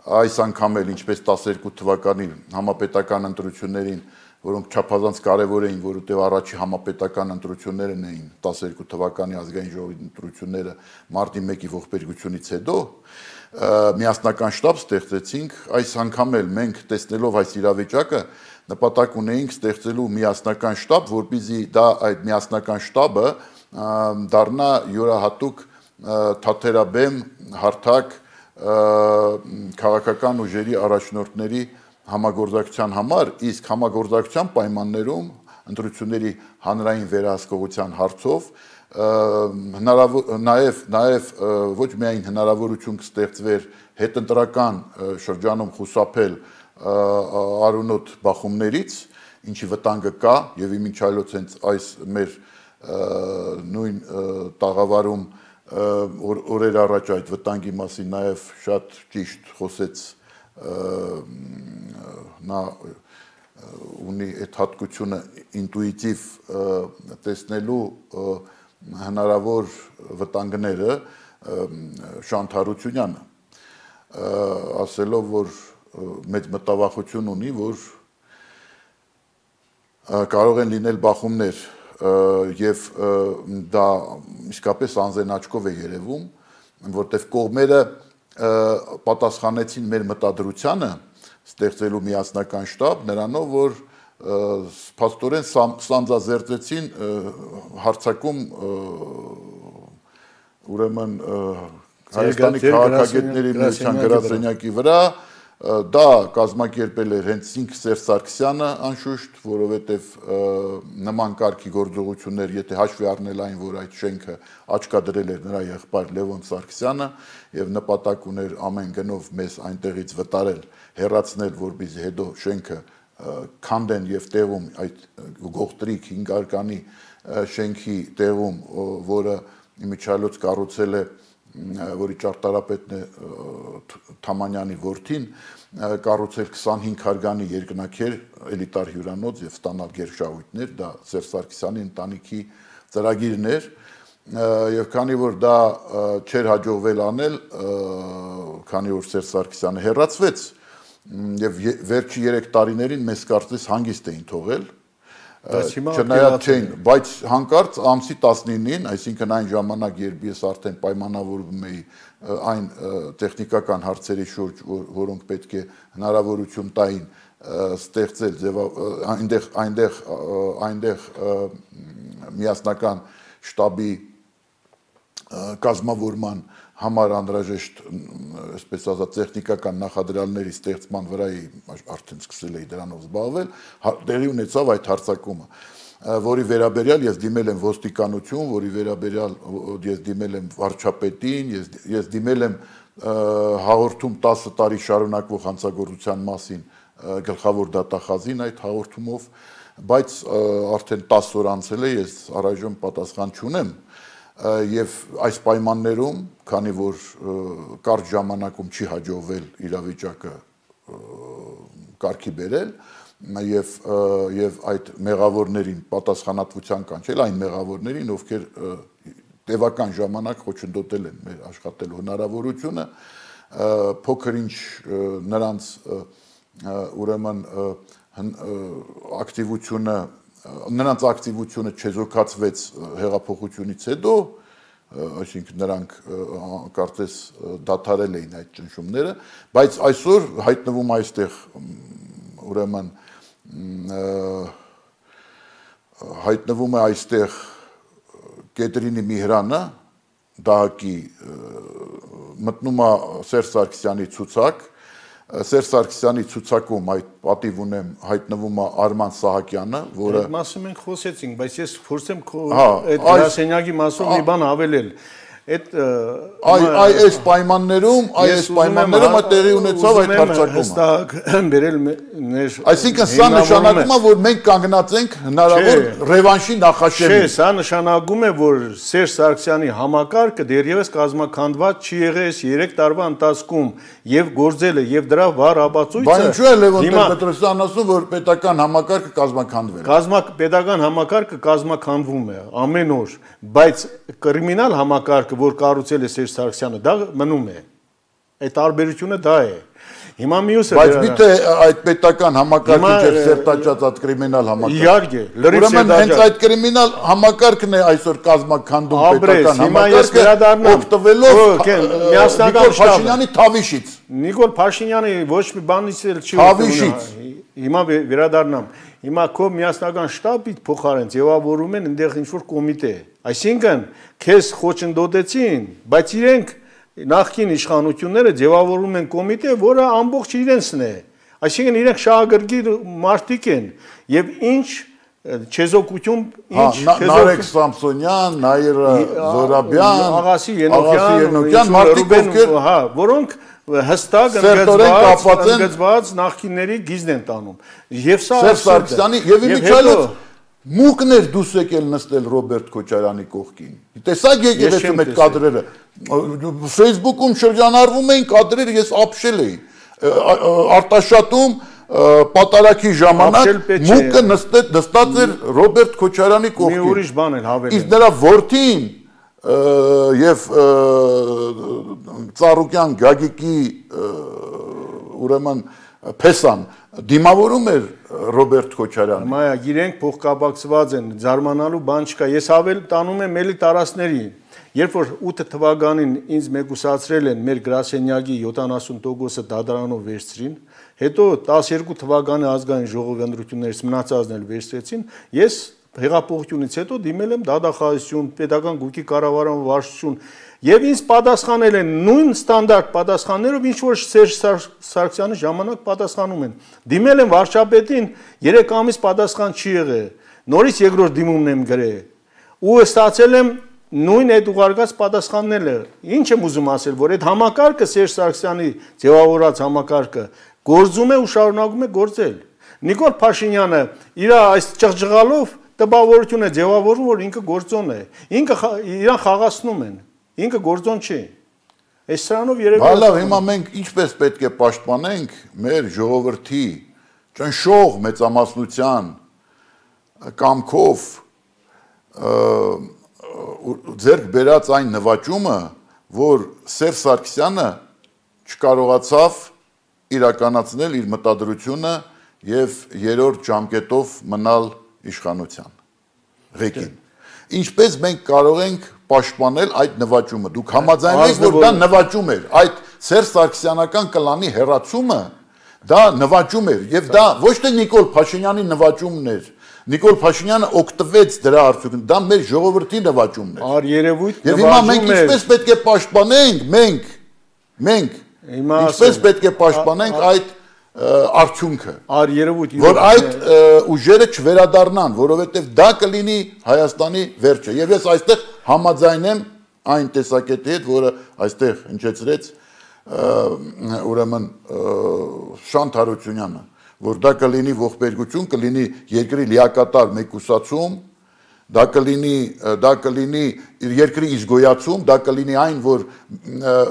այս անգամ էլ ինչպես տասներկու թվականի համապետական ընտրություններին, որոնք չափազանց կարևոր էին, որովհետև առաջի համապետական ընտրություններն էին տասներկու թվականի ազգային ժողովի ընտրությունները մարտի մեկի ողբերգությունից հետո միասնական շտաբ ստեղծեցինք, այս անգամ էլ մենք տեսնելով այս իրավիճակը նպատակ ունեինք ստեղծելու միասնական շտաբ, որպեսզի դա այդ միասնական շտաբը դառնա յուրահատուկ թաթերաբեմ, հարթակ քաղաքական ուժերի առաջնորդների համագործակցության համար, իսկ համագործակցության պայմաններում ընտրությունների հանրային վերահսկողության հարցով նաև նաև ոչ միայն հնարավորություն կստեղծվեր հետընտրական շրջանում խուսափել արունոտ բախումներից, ինչի վտանգը կա եւ իմիջ այլոց հենց այս մեր նույն տաղավարում օրեր առաջ այդ վտանգի մասին նաև շատ ճիշտ խոսեց նա ունի այդ հատկությունը ինտուիտիվ տեսնելու հնարավոր վտանգները Շանթ Հարությունյանը ասելով, որ մեծ մտավախություն ունի, որ կարող են լինել բախումներ եւ դա իսկապես անզեն աչքով է երևում, որտեղ կողմերը պատասխանեցին մեր մտադրությանը ստեղծելու միասնական շտաբ նրանով, որ փաստորեն սանձազերծեցին հարցակում ուրեմն Հայաստանի քաղաքագետների միության գրասենյակի վրա դա կազմակերպել էր հենց ինքը Սերժ Սարգսյանը անշուշտ, որովհետև նման կարգի գործողություններ, եթե հաշվի առնել այն, որ այդ շենքը աչքադրել էր նրա եղբայր Լևոն Սարգսյանը եւ նպատակ ուներ ամեն գնով մեզ այնտեղից վտարել, հեռացնել, որպեսզի հետո շենքը քանդեն եւ տեղում այդ գողտրիկ հինգարկանի շենքի տեղում, որը իմիջիայլոց կառուցել է որի ճարտարապետն է Թամանյանի որդին, կառուցել քսանհինգ հարգանի երկնաքեր, էլիտար հյուրանոց եւ ստանալ գերշահույթներ, դա Սերժ Սարգսյանի ընտանիքի ծրագիրն էր, եւ քանի որ դա չէր հաջողվել անել, քանի որ Սերժ Սարգսյանը հեռացվեց եւ վերջի երեք տարիներին մեզ կարծես հանգիստ էին թողել, չնայած չէին, բայց հանկարծ ամսի տասնինին, այսինքն այն ժամանակ, երբ ես արդեն պայմանավորվում էի այն տեխնիկական հարցերի շուրջ, որոնք պետք է հնարավորություն տային ստեղծել այնտեղ այնտեղ այնտեղ միասնական շտաբի կազմավորման համար անհրաժեշտ, այսպես ասած, տեխնիկական նախադրյալների ստեղծման վրա արդեն սկսել էի դրանով զբաղվել, տեղի ունեցավ այդ հարձակումը, որի վերաբերյալ ես դիմել եմ ոստիկանություն, որի վերաբերյալ ես դիմել եմ վարչապետին, ես դիմել եմ հաղորդում տասը տարի շարունակվող հանցագործության մասին գլխավոր դատախազին այդ հաղորդումով, բայց արդեն տասը օր անցել է, ես առայժմ պատասխան չունեմ եւ այս պայմաններում, քանի որ կարճ ժամանակում չի հաջողվել իրավիճակը կարգի բերել եւ եւ այդ մեղավորներին պատասխանատվության կանչել այն մեղավորներին, ովքեր տևական ժամանակ խոչընդոտել են մեր աշխատելու հնարավորությունը, փոքր ինչ նրանց ուրեմն ակտիվությունը նրանց ակտիվությունը չեզոքացվեց հեղափոխությունից հետո, այսինքն նրանք կարծես դադարել էին այդ ճնշումները, բայց այսօր հայտնվում այստեղ ուրեմն հայտնվում է այստեղ Կետրինի Միհրանը դահակի մտնում է Սերժ Սարգսյանի ցուցակ, Սերժ Սարգսյանի ցուցակում այդ պատիվ ունեմ հայտնվում է Արման Սահակյանը, որը
Այդ մասը մենք խոսեցինք, բայց ես փորձեմ այդ գրասենյակի մասով մի բան ավելել։ Այդ
այ այս պայմաններում, այս պայմաններում է տեղի ունեցավ այդ հարձակումը։
Հստակ բերել մեր
Այսինքն սա նշանակում է, որ մենք կանգնած ենք հնարավոր ռևանշի նախաշեմին։
Չէ, սա նշանակում է, որ Սերժ Սարգսյանի համակարգը դեռևս կազմաքանդված չի եղել այս երեք տարվա ընթացքում եւ գործել է եւ դրա վառ ապացույցը։
Բայց ինչու է Լևոն Տեր-Պետրոսյանն ասում, որ պետական համակարգը կազմաքանդվել է։
Կազմակ պետական համակարգը կազմաքանդվում է ամեն օր, բայց կրիմինալ համակարգը, որ կառուցել է Սերժ Սարգսյանը, դա մնում է։ Այդ տարբերությունը դա է։ Հիմա մյուսը
Բայց միթե այդ պետական համակարգը չէ սերտաճած այդ կրիմինալ համակարգը։
Իհարկե, լրիվ
Ուրեմն հենց այդ կրիմինալ համակարգն է այսօր կազմաքանդում պետական համակարգը, օգտվելով Նիկոլ Փաշինյանի թավիշից։
Նիկոլ Փաշինյանը ոչ մի բանից էլ չի
Թավիշից։
Հիմա վերադառնամ։ Հիմա քո միասնական շտաբից փոխարեն ձևավորում են այնտեղ ինչ-որ կոմիտե։ Այսինքն, քեզ խոչընդոտեցին, բայց իրենք նախկին իշխանությունները ձևավորում են կոմիտե, որը ամբողջ իրենցն է։ Այսինքն իրենք շահագրգիռ մարդիկ են եւ ինչ չեզոքություն, ինչ
Նարեկ Սամսոնյան, Նաիրա Զորաբյան,
Աղասի Ենոքյան,
մարդիկ ովքեր,
հա, որոնք հստակ ընդգծված նախկինների գիզն են տանում։ Եվ սա
Սերժ Սարգսյանի եւ իմիջիայլոց մուկն էր դուս եկել նստել Ռոբերտ Քոչարյանի կողքին։ Տեսակ եկեղեցում այդ կադրերը։ Facebook-ում շրջանառվում էին կադրերը, ես ապշել էի։ Արտաշատում պատարակի ժամանակ մուկը նստած էր Ռոբերտ Քոչարյանի կողքին։
Մի ուրիշ բան էլ հավելել։
Իսկ նրա որդին եւ Ծառուկյան Գագիկի ուրեմն Փեսան դիմավորում էր Ռոբերտ Քոչարյանին։
Մայա, իրենք փոխկապակցված են, զարմանալու բան չկա։ Ես ավել տանում եմ էլի տարածքների։ Երբ որ ութ թվականին ինձ մեկուսացրել են մեր գրասենյակի յոթանասուն տոկոսը դադարանով վերցրին, հետո տասներկու թվականի ազգային ժողովի ընտրություններից մնացածն էլ վերցրեցին, ես հեղափոխությունից հետո դիմել եմ դատախազություն, պետական գույքի կառավարման վարչություն եւ ինձ պատասխանել են նույն ստանդարտ պատասխաններով, ինչ որ Սերժ Սարգսյանի ժամանակ պատասխանում են։ Դիմել եմ վարչապետին, երեք ամիս պատասխան չի եղել։ Նորից երկրորդ դիմումն եմ գրել։ Ու ստացել եմ նույն այդ ուղարկած պատասխանները։ Ինչ եմ ուզում ասել, որ այդ համակարգը Սերժ Սարգսյանի ձևավորած համակարգը գործում է ու շարունակում է գործել։ Նիկոլ Փաշինյանը իր այս ճղճղալով տպավորություն է ձևավորում, որ ինքը գործոն է։ Ինքը իրան խաղացնում են։ Ինքը գործոն չի։ Այս սրանով երևի
Բալավ, հիմա մենք ինչպես պետք է պաշտպանենք մեր ժողովրդի ճնշող մեծամասնության կամքով ձեռք բերած այն նվաճումը, որ Սերժ Սարգսյանը չկարողացավ իրականացնել իր մտադրությունը եւ երրորդ ժամկետով մնալ իշխանության ղեկին։ Ինչպես մենք կարող ենք պաշտպանել այդ նվաճումը։ Դուք համաձայնեք, որ դա նվաճում էր, այդ Սերժ Սարգսյանական կլանի հերացումը դա նվաճում էր եւ դա ոչ թե Նիկոլ Փաշինյանի նվաճումն էր։ Նիկոլ Փաշինյանը օգտվեց դրա արդյունքում, դա մեր ժողովրդի նվաճումն էր։
Ար երևույթ
Եվ հիմա մենք ինչպես պետք է պաշտպանենք, մենք, մենք ինչպես պետք է պաշտպանենք այդ արդյունքը,
ար երևույթ,
որ այդ ուժերը չվերադառնան, որովհետև դա կլինի Հայաստանի վերջը։ Եվ ես այստեղ համաձայնեմ այն տեսակետի հետ, որը այստեղ հնչեցրեց ուրեմն Շանթ Հարությունյանը, որ դա կլինի ողբերգություն, կլինի երկրի լիակատար մեկուսացում, դա կլինի դա կլինի երկրի իզգոյացում, դա կլինի այն, որ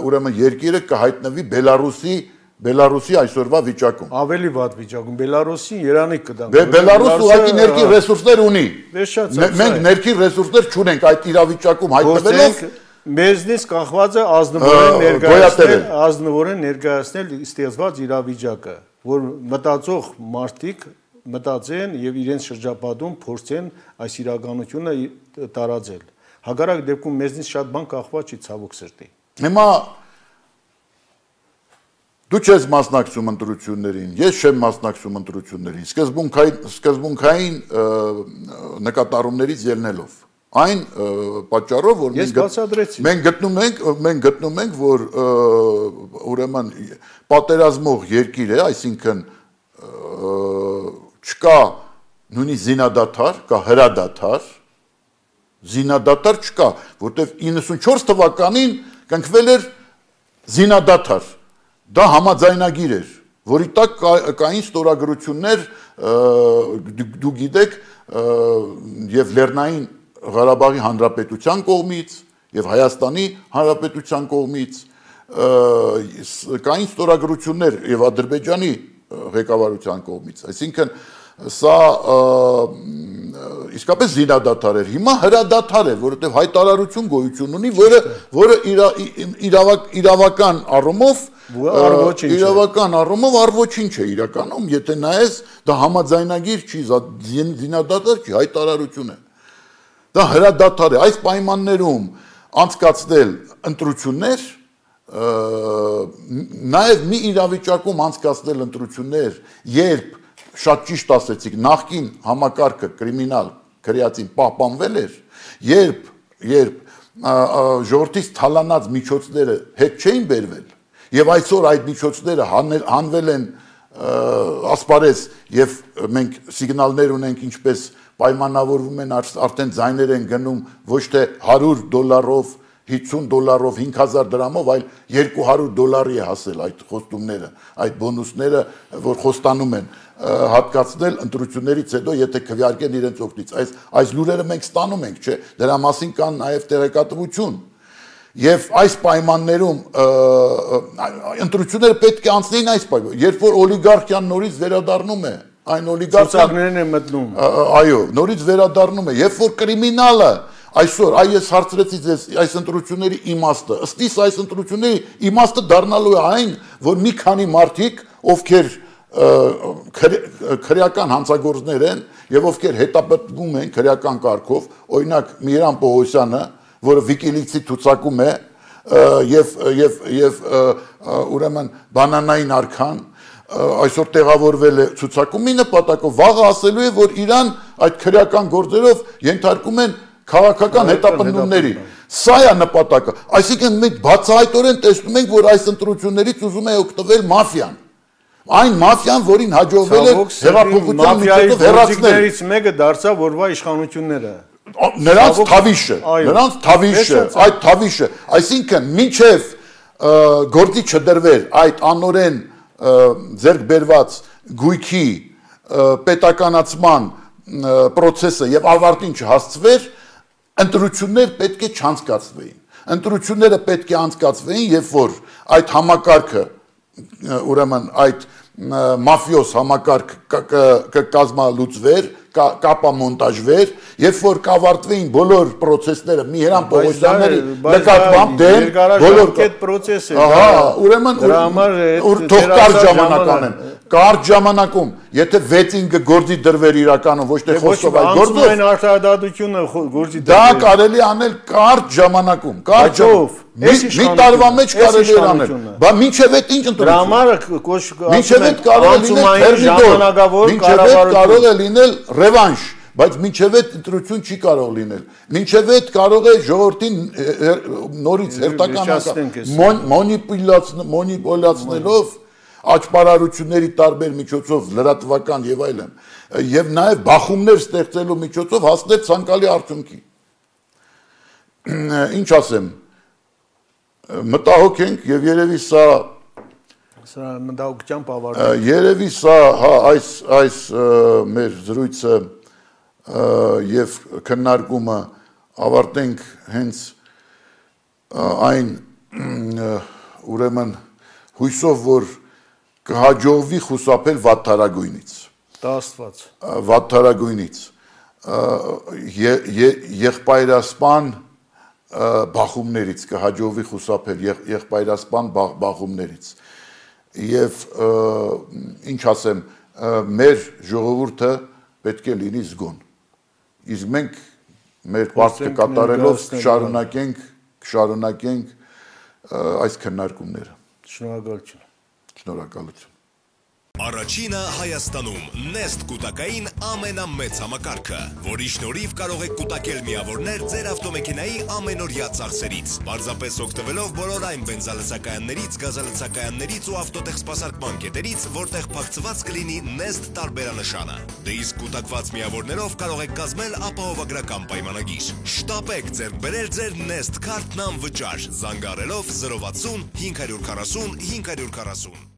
ուրեմն երկիրը կհայտնվի Բելարուսի Բելարուսի այսօրվա վիճակում։
Ավելի վատ վիճակում, Բելարուսի Երանիկ կդան։
Բելարուսը ուղղակի ներքին ռեսուրսներ ունի։
Վերջացած։
Մենք ներքին ռեսուրսներ չունենք այդ իրավիճակում հայտնվելով։
Մեզնից կախված է ազնվորեն ներկայացնել, ազնվորեն ներկայացնել ստեղծված իրավիճակը, որ մտածող մարդիկ մտածեն եւ իրենց շրջապատում փորձեն այս իրականությունը տարածել։ Հակառակ դեպքում մեզնից շատ բան կախված չի ցավոք սրտի։
Հիմա դու չես մասնակցում ընտրություններին, ես չեմ մասնակցում ընտրություններին, սկզբունքային սկզբունքային նկատառումներից ելնելով։ Այն պատճառով, որ մենք գտնում ենք, մենք գտնում ենք, որ ուրեմն պատերազմող երկիր է, այսինքն չկա նույնիսկ զինադադար, կա հրադադար, զինադադար չկա, որտեղ իննսունչորս թվականին կնքվել էր զինադադար, դա համաձայնագիր էր, որի տակ կային ստորագրություններ, դու գիտեք, եւ Լեռնային Ղարաբաղի Հանրապետության կողմից եւ Հայաստանի Հանրապետության կողմից կային ստորագրություններ եւ Ադրբեջանի ղեկավարության կողմից, այսինքն սա իսկապես զինադադար էր, հիմա հրադադար է, որովհետեւ հայտարարություն գոյություն ունի, որը որը իրավական առումով իրավական առումով առոչինչ է իրականում, եթե նայես, դա համաձայնագիր չի, զինադադար չի, հայտարարություն է։ Դա հրադադար է, այս պայմաններում անցկացնել ընտրություններ, նաև մի իրավիճակում անցկացնել ընտրություններ, երբ շատ ճիշտ ասեցիք, նախկին համակարգը կրիմինալ քրեածին պահպանվել էր, երբ երբ ժողովրդից թալանած միջոցները հետ չէին բերվել, եւ այսօր այդ միջոցները հանվել են ասպարեզ եւ մենք սիգնալներ ունենք ինչպես պայմանավորվում են արդեն ձայներ են գնում ոչ թե հարյուր դոլարով, հիսուն դոլարով, հինգ հազար դրամով, այլ երկու հարյուր դոլարի է հասել այդ խոստումները, այդ բոնուսները, որ խոստանում են հատկացնել ընտրություններից հետո, եթե քվեարկեն իրենց օգտից։ Այս այս լուրերը մենք ստանում ենք, չէ՞, դրա մասին կան նաև տեղեկատվություն։ Եվ այս պայմաններում ընտրությունները պետք է անցնեին այս պայմաններում, երբ որ օլիգարխիան նորից վերադառնում է, այն օլիգարխիան
է մտնում։
Այո, նորից վերադառնում է, երբ որ կրիմինալը այսօր, այ ես հարցրեցի ձեզ այս ընտրությունների իմաստը, ըստ իս այս ընտրությունների իմաստը դառնալու է այն, որ մի քանի մարդիկ, ովքեր քրեական հանցագործներ են եւ ովքեր հետապնդվում են քրեական կարգով, օրինակ Միրան Պողոսյանը, որը Wikileaks-ի ցուցակում է, եւ եւ եւ ուրեմն բանանային արքան այսօր տեղավորվել է ցուցակում մի նպատակով, վաղը ասելու է, որ Իրան այդ քրեական գործերով ենթարկում են քաղաքական հետապնդումների։ Սա է նպատակը։ Այսինքն մենք բացահայտորեն տեսնում ենք, որ այս ընտրություններից ուզում է օգտվել մաֆիան։ Այն մաֆիան, որին հաջողվել է հեղափոխության միջոցով հեռացնել։
Մեկը դարձավ որվա իշխանությունները։
Նրանց թավիշը, նրանց թավիշը, այդ թավիշը, այսինքն մինչև գործի չդրվեր այդ անօրեն ձեռք բերված գույքի պետականացման process-ը եւ ավարտին չհասցվեր, ընտրություններ պետք է չանցկացվեին։ Ընտրությունները պետք է անցկացվեին, երբ որ այդ համակարգը, ուրեմն այդ մաֆիոս համակարգ կկազմալուծվեր, կապամոնտաժվեր, երբ որ կավարտվեին բոլոր process-ները Միհրան Պողոսյանների նկատմամբ դեմ բոլոր
այդ process-ը։
Ահա, ուրեմն թող կարճ ժամանակ անեն։ Կարճ ժամանակում, եթե վեցին գործի դրվեր իրականում, ոչ թե խոսքով այդ գործով,
այն արտահայտությունը գործի
դա կարելի անել կարճ ժամանակում, կարճ մի տարվա մեջ կարելի է անել։ Բա մինչև այդ ինչ ընտրություն։
Դրա համար
մինչև այդ կարող է լինել
ժամանակավոր
կառավարություն, կարող է լինել ռևանշ, բայց մինչև այդ ընտրություն չի կարող լինել։ Մինչև այդ կարող է ժողովրդին նորից հերթական մոնիպուլյացնելով աճպարարությունների տարբեր միջոցով լրատվական եւ այլն եւ նաեւ բախումներ ստեղծելու միջոցով հասնել ցանկալի արդյունքի։ Ինչ ասեմ, մտահոգ ենք եւ երևի սա
սա մտահոգությամբ ավարտել։
Երևի սա հա այս այս մեր զրույցը եւ քննարկումը ավարտենք հենց այն ուրեմն հույսով, որ կհաջողվի խուսափել վատթարագույնից։
Դա Աստված։
Վատթարագույնից։ Եղբայրասպան բախումներից կհաջողվի խուսափել եղբայրասպան բախումներից։ Եվ ինչ ասեմ, մեր ժողովուրդը պետք է լինի զգոն։ Իսկ մենք մեր պարտքը կատարելով կշարունակենք, կշարունակենք այս քննարկումները։
Շնորհակալություն։
Շնորհակալություն։
Առաջինը Հայաստանում Nest կուտակային ամենամեծ համակարգը, որի շնորհիվ կարող եք կուտակել միավորներ ձեր ավտոմեքենայի ամենօրյա ծախսերից, պարզապես օգտվելով բոլոր այն բենզալցակայաններից, գազալցակայաններից ու ավտոտեխսպասարկման կետերից, որտեղ փակցված կլինի Nest տարբերանշանը։ Դե իսկ կուտակված միավորներով կարող եք կազմել ապահովագրական պայմանագիր։ Շտապեք ձեռք բերել ձեր Nest քարտն անվճար, զանգահարելով զրո վաթսուն հինգ հարյուր քառասուն հինգ հարյուր քառասուն։